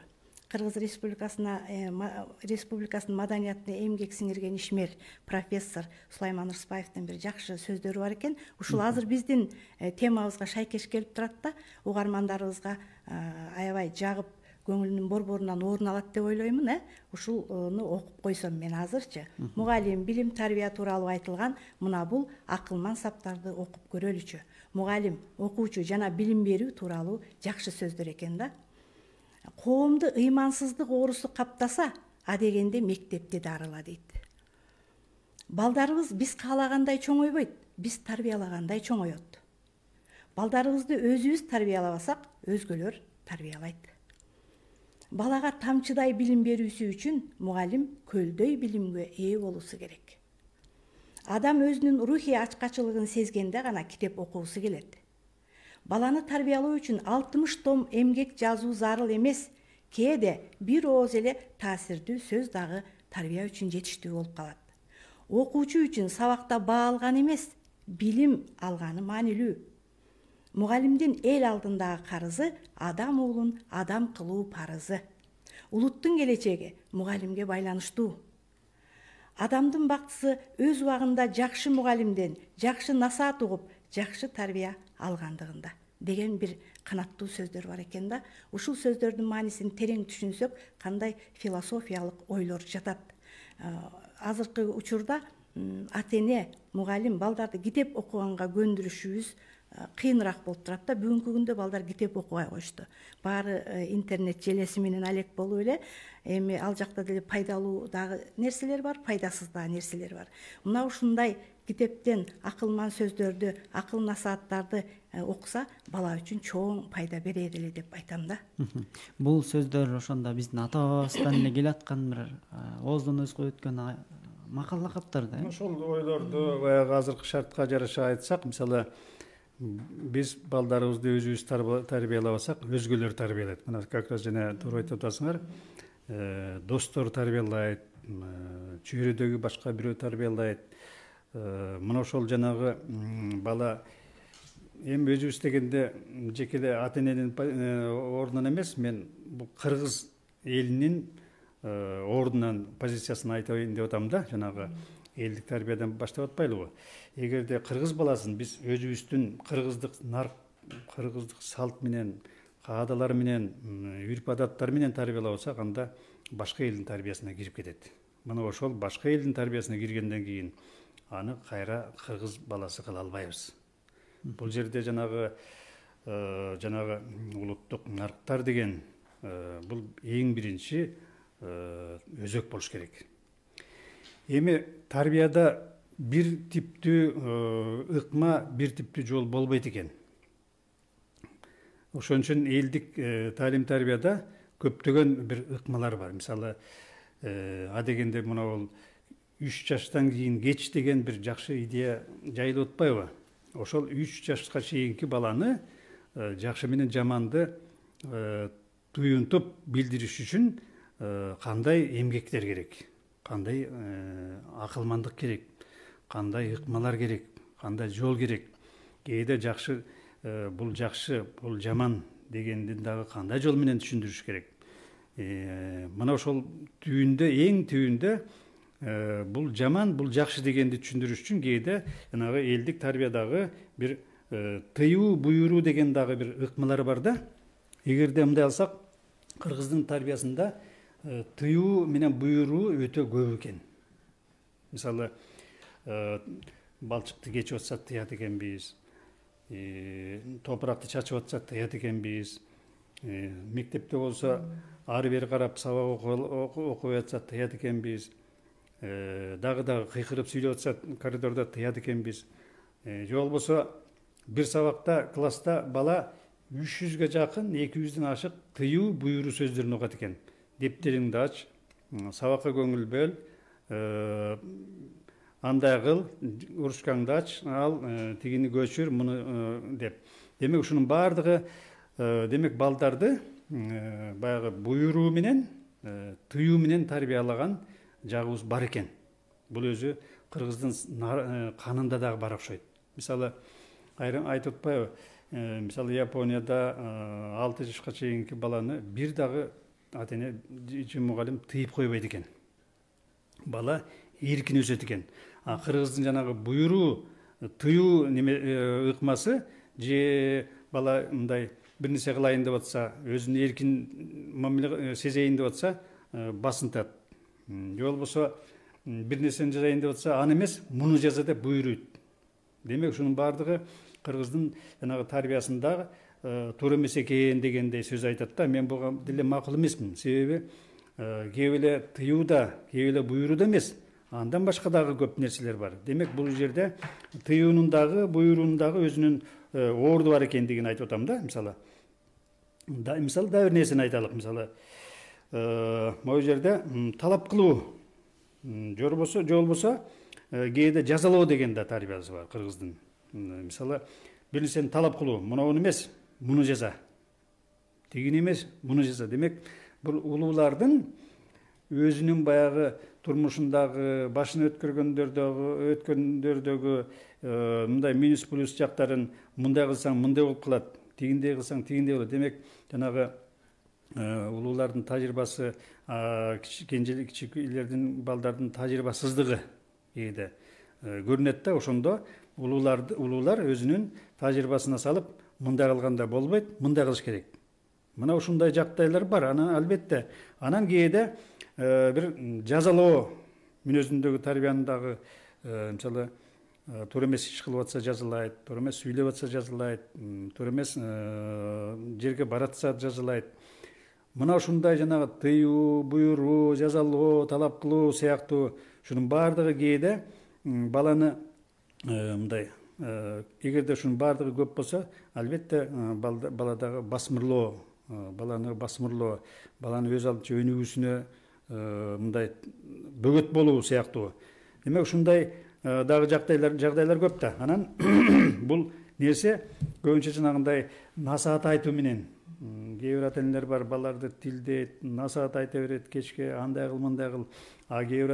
Speaker 4: Кыргыз Республикасынын маданиятына эмгек сиңирген ишмер профессор Сулайман Рыспаевдин бир жакшы сөздөрү бар экен. Ушул азыр биздин темабызга шайкеш келип турат да, угармандарыбызга аябай жагып көңүлүнүн борборунан орун алат деп ойлоймун. Ушуну окуп койсом мен азырчы. Мугалим билим тарбия тууралуу айтылган мына бул акылман саптарды окуп көрөлүчү. Мугалим, окуучу жана билим берүү тууралуу жакшы сөздөр экен да. Коомду ыймансыздык оорусу каптаса, адегенде мектепти дарыла дейт. Балдарыбыз биз каалагандай чоңойбойт, биз тарбиялагандай чоңоет. Балдарыбызды өзүбүз тарбиялабасак, өзгөлөр тарбиялайт. Балага тамчыдай билим берүүсү үчүн мугалим көлдөй билимге ээ болуусу керек. Адам өзүнүн рухий ачкачылыгын сезгенде гана китеп окуусу келет. Баланы тарбиялоо үчүн 60 том эмгек жазуу зарыл эмес, кээде бир ооз эле таасирдүү сөз дагы тарбия үчүн жетиштүү болуп калат. Окуучу үчүн сабакта баа алган эмес, билим алганы маанилүү. Мугалимдин эл алдындагы карызы адам уулун адам кылуу парызы. Улуттун келечеги мугалимге байланыштуу. Адамдын бактысы өз убагында жакшы мугалимден жакшы насаат угуп, жакшы тарбия алгандыгында деген бир канаттуу сөздөр бар экен да. Ушул сөздөрдүн маанисин терең түшүнсөк, кандай философиялык ойлор жатат. Азыркы учурда ата эне, мугалим балдарды китеп окуганга көндүрүшүбүз кыйыныраак болуп турат да. Бүгүнкү күндө балдар китеп окубай коюшту. Баары интернет желеси менен алек болуп эле, эми ал жакта деле пайдалуу дагы нерселер бар, пайдасыз дагы нерселер бар. Мына ушундай китептен акылман сөздөрдү, акыл насааттарды окуса, бала үчүн чоң пайда берет эле деп айтам да.
Speaker 2: Бул сөздөр ошондо биздин ата-бабабыздан эле келаткан бир ооздон өз коюп өткөн макал лакаптар да.
Speaker 3: Ошол ойлорду баягы азыркы шартка жараша айтсак, мисалы биз балдарыбызды өзүбүз тарбиялабасак, өзгөлөр тарбиялайт. Мына как раз жана туура айтып атасыңар. Достор тарбиялайт, чөйрөдөгү башка бирөө тарбиялайт. Мына ошол жанагы бала эми өзүбүз дегенде жеке эле ата эненин ордунан эмес, мен бул кыргыз элинин ордунан позициясын айтайын деп атам да. Жанагы элдик тарбиядан баштап атпайлыбы? Эгерде кыргыз баласын биз өзүбүздүн кыргыздык нарк, кыргыздык салт менен, каадалар менен, үрп адаттар менен тарбиялабасак, анда башка элдин тарбиясына кирип кетет. Мына ошол башка элдин тарбиясына киргенден кийин аны кайра кыргыз баласы кыла албайбыз. Бул жерде жанагы улуттук нарктар деген бул эң биринчи өзөк болуш керек. Эми тарбияда бир типтүү ыкма, бир типтүү жол болбойт экен. Ошон үчүн элдик таалим тарбияда көптөгөн бир ыкмалар бар. Мисалы, адегенде мына бул 3 жаштан кийин кеч деген бир жакшы идея жайылып атпайбы? Ошол 3 жашка чейинки баланы жакшы менен жаманды туюнтуп билдириш үчүн кандай эмгектер керек, кандай акылмандык керек, кандай ыкмалар керек, кандай жол керек. Кээде жакшы, бул жакшы, бул жаман дегендин дагы кандай жол менен түшүндүрүш керек. Мына ошол түйүндө, эң түйүндө бул жаман, бул жакшы дегенди түшүндүрүш үчүн кээде жанагы элдик тарбиядагы бир тыюу, буйруу деген дагы бир ыкмалар бар да. Эгерде мындай алсак, кыргыздын тарбиясында тыюу менен буйруу өтө көп экен. Мисалы, балчыкты кечип атсак тыят экенбиз, топуракты чачып атсак тыят экенбиз, мектепте болсо ары бери карап сабак окубай атсак тыят экенбиз, дагы кыйкырып сүйлөп атсак коридордо тыят экенбиз. Же болбосо бир сабакта класста бала 300-ге жакын, 200-ден ашык тыюу, буйруу сөздөрүн окуат экен. Дептериңди ач, сабакка көңүл бөл, андай кыл, урушкаңды ач, ал тигини көчүр, муну деп. Демек ушунун баардыгы демек балдарды баягы буйруу менен, тыюу менен тарбиялаган жагыбыз бар экен. Бул өзү кыргыздын канында дагы бар окшойт. Мисалы, айрым айтып атпайбы? Мисалы, Японияда 6 жашка чейинки баланы бир дагы ата-эне же мугалим тыйып койбойт экен. Бала эркин өсөт экен. Кыргыздын жанагы буйруу, тыюу ыкмасы же бала мындай бир нерсе кылайын деп атса, өзүн эркин мамиле сезейин деп атса, басынтат. Же болбосо бир нерсени жасайын деп атса, аны эмес, муну жаза деп буйруйт. Демек, ушунун баардыгы кыргыздын жанагы тарбиясында туура эмес экен дегендей сөз айтат да. Мен буга деле макул эмесмин. Себеби кээ эле тыюуда, кээ эле буйрууда эмес, андан башка дагы көп нерселер бар. Демек, бул жерде тыюунун дагы, буйруунун дагы өзүнүн орду бар экендигин айтып атам да. Мисалы, да бир нерсени айталык. Мисалы, могу жерде талап кылуу, же болбосо кээде жазалоо деген да тарбиясы бар кыргыздын. Мисалы, бир нерсени талап кылуу, муну эмес, муну жаза. Тигини эмес, муну жаза. Демек, бул улуулардын өзүнүн баягы турмушундагы, башын өткөндөрдөгү мындай минус плюс жактарын мындай кылсаң мындай болуп калат, тигиндей кылсаң тигиндей болот. Демек, жанагы улуулардын тажрыйбасы, кичикейлердин, балдардын тажрыйбасыздыгы кээде көрүнөт да. Ошондо улуулар өзүнүн тажрыйбасына салып, мындай кылганда болбойт, мындай кылыш керек. Мына ушундай жагдайлар бар. Анан албетте, анан кээде бир жазалоо мүнөзүндөгү тарбиянын дагы, мисалы, туура эмес иш кылып атса жазалайт, туура эмес сүйлөп атса жазалайт, туура эмес жерге баратса жазалайт. Мына ушундай жанагы тыюу, буйруу, жазалоо, талап кылуу сыяктуу ушунун баардыгы кээде баланы мындай, эгерде ушунун баардыгы көп болсо, албетте баладагы басмырлоо, баланы өз алдынча өнүгүүсүнө мындай бөгөт болуу сыяктуу. Демек, ушундай дагы жагдайлар көп да. Анан бул нерсе көбүнчө жанагындай насаат айтуу менен, кээ бир ата-энелер бар, балдарды тилдейт, насаат айта берет кечке, андай кыл, мындай кыл. А кээ бир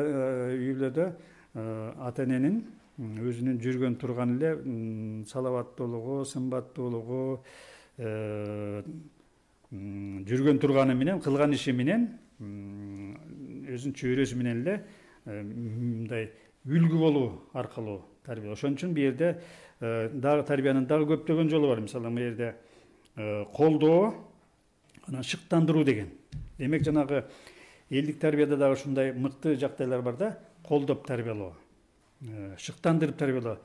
Speaker 3: үйлөрдө ата-эненин өзүнүн жүргөн турган эле салаваттуулугу, сымбаттуулугу, жүргөн турганы менен, кылган иши менен, өзүнүн чөйрөсү менен эле мындай үлгү болуу аркылуу тарбия. Ошон үчүн бу жерде дагы тарбиянын дагы көптөгөн жолу бар. Мисалы, бу жерде колдоо, анан шыктандыруу деген. Демек, жанагы элдик тарбияда дагы ушундай мыкты жагдайлар бар да. Колдоп тарбиялоо, шыктандырып тарбиялоо.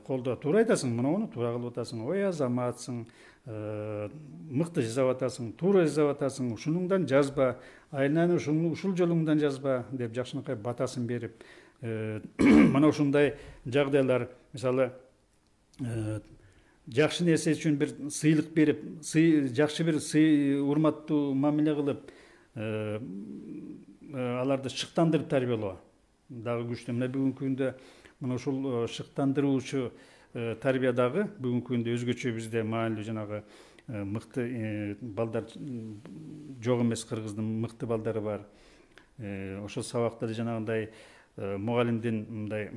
Speaker 3: Колдоо, туура айтасың, муну туура кылып атасың, ой азаматсың, мыкты жасап атасың, туура жасап атасың, ушунуңдан жазба, айынан ушул жолуңдан жазба деп жакшынакай батасын берип, мына ушундай жагдайлар. Мисалы, жакшы нерсе үчүн бир сыйлык берип, жакшы бир урматтуу мамиле кылып, аларды шыктандырып тарбиялоо дагы күчтүү. Мына бүгүнкү күндө мына ушул шыктандыруучу тарбия дагы бүгүнкү күндө өзгөчө бизде маанилүү жанагы мыкты балдар жок эмес. Кыргыздын мыкты балдары бар. Ошол сабакта жанагындай мугалимдин мындай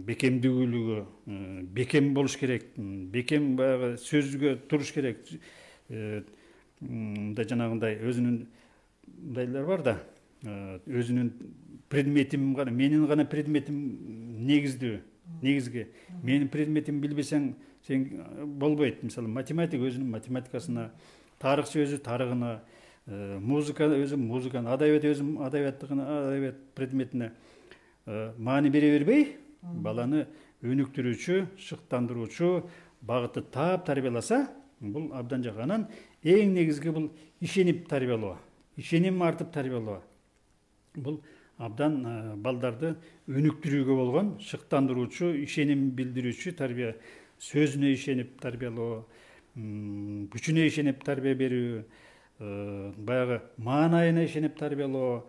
Speaker 3: бекемдүүлүгү, бекем болуш керек, бекем баягы сөзгө туруш керек. Мындай жанагындай өзүнүн мындайлар бар да, өзүнүн предметим гана, менин гана предметим негизги. Менин предметимди билбесең сен болбойт. Мисалы, математик өзүнүн математикасына, тарыхчы өзү тарыгына, музыка өзү музыканы, адабият өзү адабият предметине маани бере бербей, баланы өнүктүрүүчү, шыктандыруучу багытты таап тарбияласа, бул абдан жакшы. Анан эң негизги бул ишенип тарбиялоо, ишеним артып тарбиялоо. Бул абдан балдарды өнүктүрүүгө болгон шыктандыруучу, ишеним билдирүүчү тарбия. Сөзүнө ишенип тарбиялоо, күчүнө ишенип тарбия берүү, баягы маанайына ишенип тарбиялоо.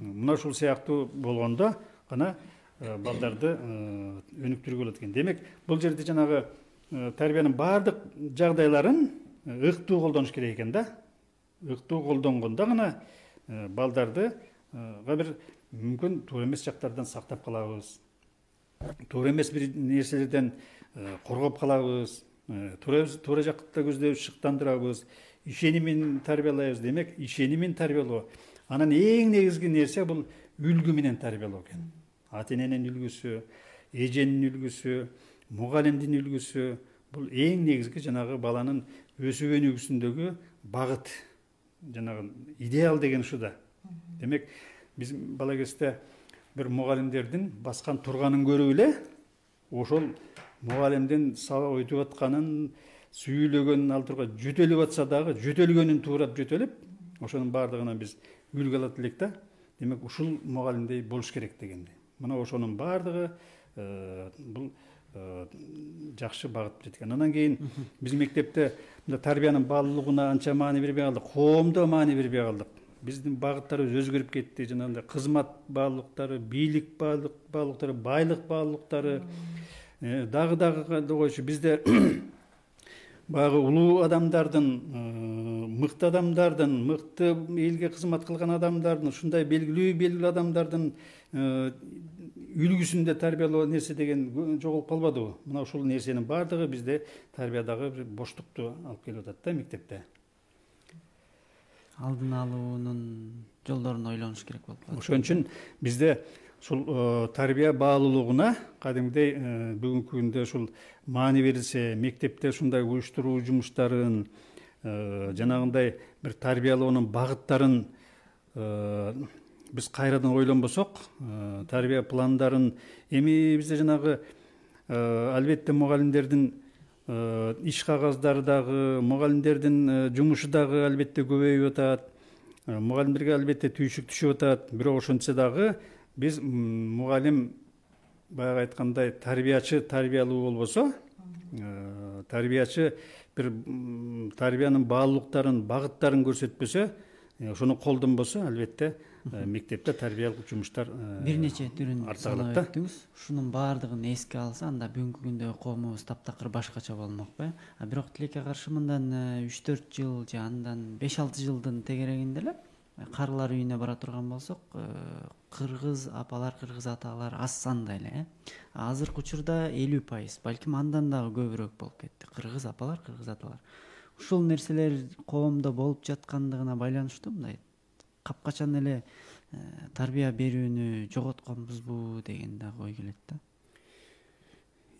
Speaker 3: Мына ушул сыяктуу болгондо гана балдарды өнүктүрүүгө болот экен. Демек, бул жерде жанагы тарбиянын баардык жагдайларын ыктуу колдонуш керек экен да. Ыктуу колдонгондо гана балдарды бир мүмкүн туура эмес жактардан сактап калабыз. Туура эмес бир нерселерден коргоп калабыз. Туура жакта көздөбүз, шыктандырабыз. Ишенимин тарбиялайбыз. Демек, ишенимин тарбиялоо. Анан эң негизги нерсе бул үлгү менен тарбиялоо экен. Ата-эненин үлгүсү, эженин үлгүсү, мугалимдин үлгүсү, бул эң негизги жанагы баланын өсүп өнүгүүсүндөгү багыт, жанагы идеал деген ушу да. Демек, биз бала кезде бир мугалимдердин баскан турганын көрүп эле, ошол мугалимдин сабак өтүп атканын, сүйлөгөнүн алдырга жөтөлүп атса дагы, жөтөлгөнүн туурап жөтөлүп, ошонун баардыгынан биз үлгү алат элек да. Демек, ушул мугалимдей болуш керек дегенди. Мына ошонун баардыгы бул жакшы багыт берет экен. Андан кийин биз мектепте тарбиянын баалуулугуна анча маани бербей калдык, коомдо маани бербей калдык. Биздин багыттарыбыз өзгөрүп кетти. Жанагындай кызмат баалуулуктары, бийлик баалуулуктары, байлык баалуулуктары дагы койчу. Бизде баягы улуу адамдардын, мыкты адамдардын, мыкты элге кызмат кылган адамдардын, ушундай белгилүү адамдардын үлгүсүндө тарбиялоо нерсе деген жоголуп калбадыбы? Мына ушул нерсенин баардыгы бизде тарбиядагы бир боштукту алып келип атат да мектепте.
Speaker 2: Алдын алуунун жолдорун ойлонуш керек болуп калат.
Speaker 3: Ошон үчүн бизде ушул тарбия баалуулугуна кадимгидей бүгүнкү күндө ушул маани берилсе, мектепте ушундай уюштуруу жумуштарын, жанагындай бир тарбиялоонун багыттарын биз кайрадан ойлонбосок, тарбия пландарын эми бизде жанагы албетте мугалимдердин иш кагаздары дагы, мугалимдердин жумушу дагы албетте көбөйүп атат. Мугалимдерге албетте түйшүк түшүп атат. Бирок ошентсе дагы биз мугалим баягы айткандай тарбиячы тарбиялуу болбосо, тарбиячы бир тарбиянын баалуулуктарын, багыттарын көрсөтпөсө, ошону колдонбосо, албетте мектепте тарбиялык жумуштар
Speaker 2: бир нече түрүн санап өттүңүз. Ушунун баардыгын эске алса, анда бүгүнкү күндө коомубуз таптакыр башкача болмокпу. Бирок тилекке каршы мындан 3-4 жыл же андан 5-6 жылдын тегерегинде эле карылар үйүнө бара турган болсок, кыргыз апалар, кыргыз аталар аз санда эле. Азыркы учурда 50%, балким андан дагы көбүрөөк болуп кетти. Кыргыз апалар, кыргыз аталар. Ушул нерселер коомдо болуп жаткандыгына байланыштуу мындай капкачан эле тарбия берүүнү жоготконбузбу деген дагы ой келет да.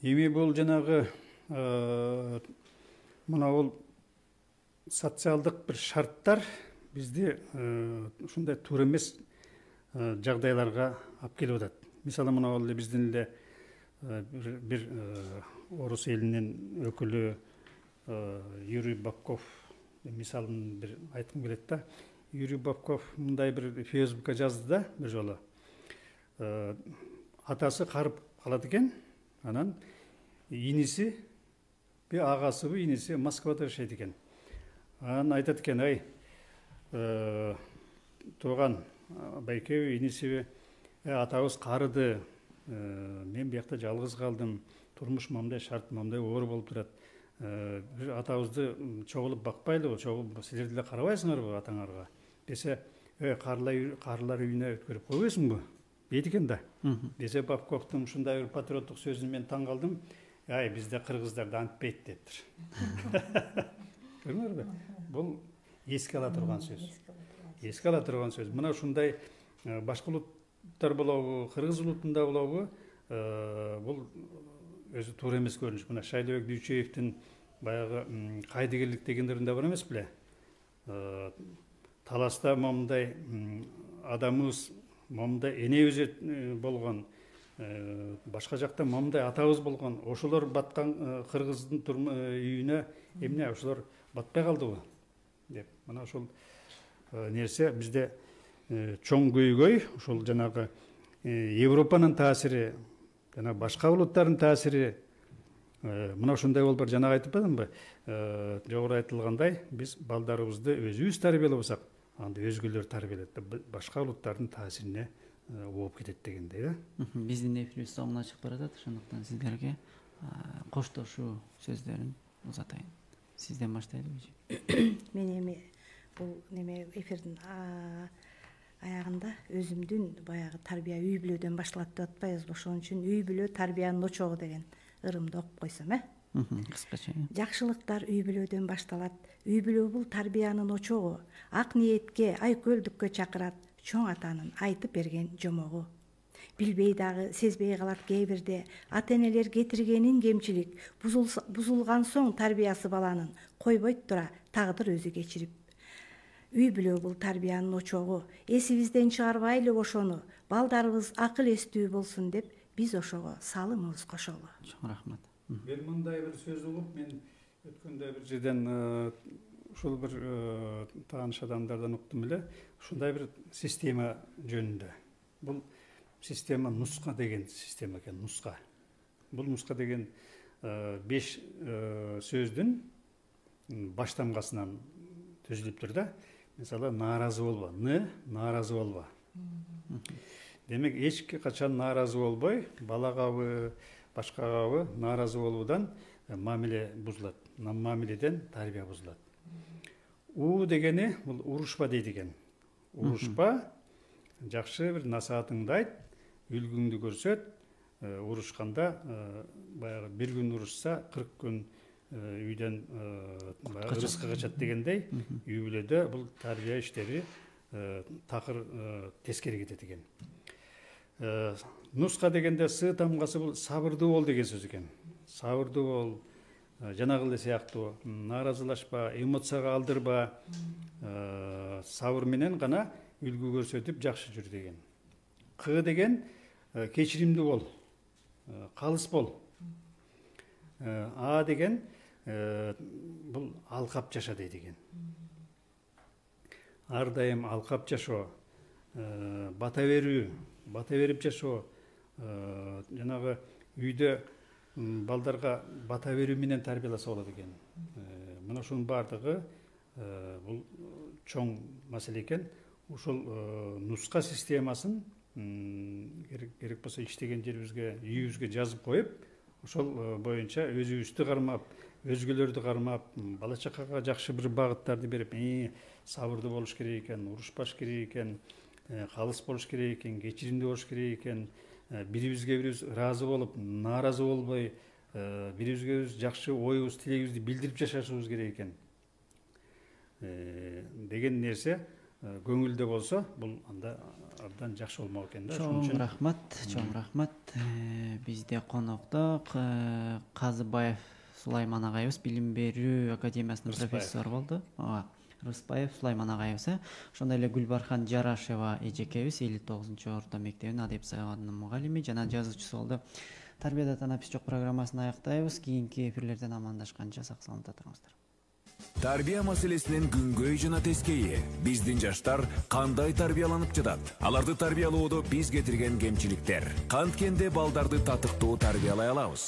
Speaker 3: Эми бул жанагы мына бул социалдык бир шарттар бизди ушундай туура эмес жагдайларга алып келип атат. Мисалы, мына бул биздин эле бир орус элинин өкүлү Юрий Бабков мисалын бир айткым келет да. Юрий Бабков мындай бир Фейсбукка жазды да бир жолу. Атасы карып калат экен, анан иниси, агасыбы, иниси Москвада жашайт экен. Анан айтат экен: "Ай, тууган байкеби, инисиби, атабыз карыды, мен биякта жалгыз калдым, турмуш мамдай шарт, мамдай оор болуп турат. Бир атабызды чогулуп бакпайлыбы, чогулуп силер деле карабайсыңарбы атаңарга?" Десе, карылар үйүнө өткөрүп койбойсуңбу дейт экен да. Десе, Бабковдун ушундай бир патриоттук сөзүн мен таң калдым. Ай, бизде кыргыздарда антпейт дептир. Көрдүңөрбү? Бул эске ала турган сөз. Эске ала турган сөз. Мына ушундай башка улуттар болобу, кыргыз улутунда болобу, бул өзү туура эмес көрүнүш. Мына Шайлообек Дүйчөевдин баягы кайдыгерлик дегендеринде бар эмес беле? Таласта момундай адамыбыз, момундай энебиз болгон, башка жакта момундай атабыз болгон, ошолор баткан кыргыздын үйүнө эмне ошолор батпай калдыбы деп. Мына ошол нерсе бизде чоң көйгөй, ошол жанагы Европанын таасири, жана башка улуттардын таасири. Мына ушундай болуп бар. Жанагы айтып атпадымбы? Жогору айтылгандай, биз балдарыбызды өзүбүз тарбиялабасак, анда өзгөлөр тарбиялайт. Башка улуттардын таасирине ооп кетет дегендей да.
Speaker 2: Биздин эфирибиз соңуна чыгып баратат, ошондуктан сиздерге коштошуу сөздөрүн узатайын. Сизден баштайлыбы?
Speaker 4: Мен эми бул неме эфирдин аягында өзүмдүн баягы тарбия үй бүлөдөн башталат деп атпайбызбы? Ошон үчүн үй бүлө тарбиянын очогу деген ырымды окуп койсом,
Speaker 2: кыскача.
Speaker 4: Жакшылыктар үй бүлөдөн башталат. Үй бүлө бул тарбиянын очогу. Ак ниетке, айкөлдүккө чакырат чоң атанын айтып берген жомогу. Билбей дагы, сезбей калат кээ бирде ата-энелер кетиргенин кемчилик, бузулган соң тарбиясы баланын койбойт тура тагдыр өзү кечирип. Үй бүлө бул тарбиянын очогу. Эсибизден чыгарбайлы ошону, балдарыбыз акыл эстүү болсун деп биз ошого салымыбыз кошолу.
Speaker 2: Чоң рахмат.
Speaker 3: Мен мындай бир сөз угуп, мен өткөндө бир жерден ушул бир тааныш адамдардан уктум эле, ушундай бир система жөнүндө. Бул система нуска деген система экен, нуска. Бул нуска деген 5 сөздүн баштамгасынан түзүлүптүр да. Мисалы, нааразы болбо, нааразы болбо. Демек, эч качан нааразы болбой, балагабы, башкагабы нааразы болуудан мамиле бузулат. Мамиледен тарбия бузулат. У дегени бул урушпа дейт экен. Урушпа, жакшы бир насаатыңды айт, үлгүңдү көрсөт, урушканда баягы бир күн урушса 40 күн үйдөн рызкы качат дегендей, үй бүлөдө бул тарбия иштери такыр тескери кетет экен. Нуска дегенде сы тамгасы бул сабырдуу бол деген сөз экен. Сабырдуу бол, жанагы эле сыяктуу, нааразылашпа, эмоцияга алдырба, сабыр менен гана үлгү көрсөтүп жакшы жүр деген. Кы деген кечиримдүү бол, калыс бол. А деген бул алкап жаша дейт экен. Ар дайым алкап жашоо, бата берип жашоо, жанагы үйдө балдарга бата берүү менен тарбияласа болот экен. Мына ушунун бардыгы бул чоң маселе экен. Ушул нуска системасын керек болсо иштеген жерибизге, үйүбүзгө жазып коюп, ошол боюнча өзүбүздү кармап, өзгөлөрдү кармап, бала чакага жакшы бир багыттарды берип, сабырдуу болуш керек экен, урушпаш керек экен, калыс болуш керек экен, кечиримдүү болуш керек экен, бирибизге бирибиз ыраазы болуп, нааразы болбой, бирибизге бирибиз жакшы оюбуз, тилегибизди билдирип жашашыбыз керек экен деген нерсе көңүлдө болсо, бул анда абдан жакшы болмок экен да.
Speaker 2: Чоң рахмат. Бизде конокто Казыбаев Сулайман агайыбыз, билим берүү академиясынын профессору болду. Рыспаев Сулайман агайыбыз. Ошондой эле Гүлбархан Жарашева эжекебиз 59-орто мектебинин адеп сабагынын мугалими жана жазуучусу болду. Тарбияда танапис жок программасын аяктайбыз. Кийинки эфирлерден амандашканча сак саламатта туруңуздар.
Speaker 1: Тарбия маселесинин күнгөй жана тескейи. Биздин жаштар кандай тарбияланып жатат? Аларды тарбиялоодо биз кетирген кемчиликтер. Канткенде балдарды татыктуу тарбиялай алабыз?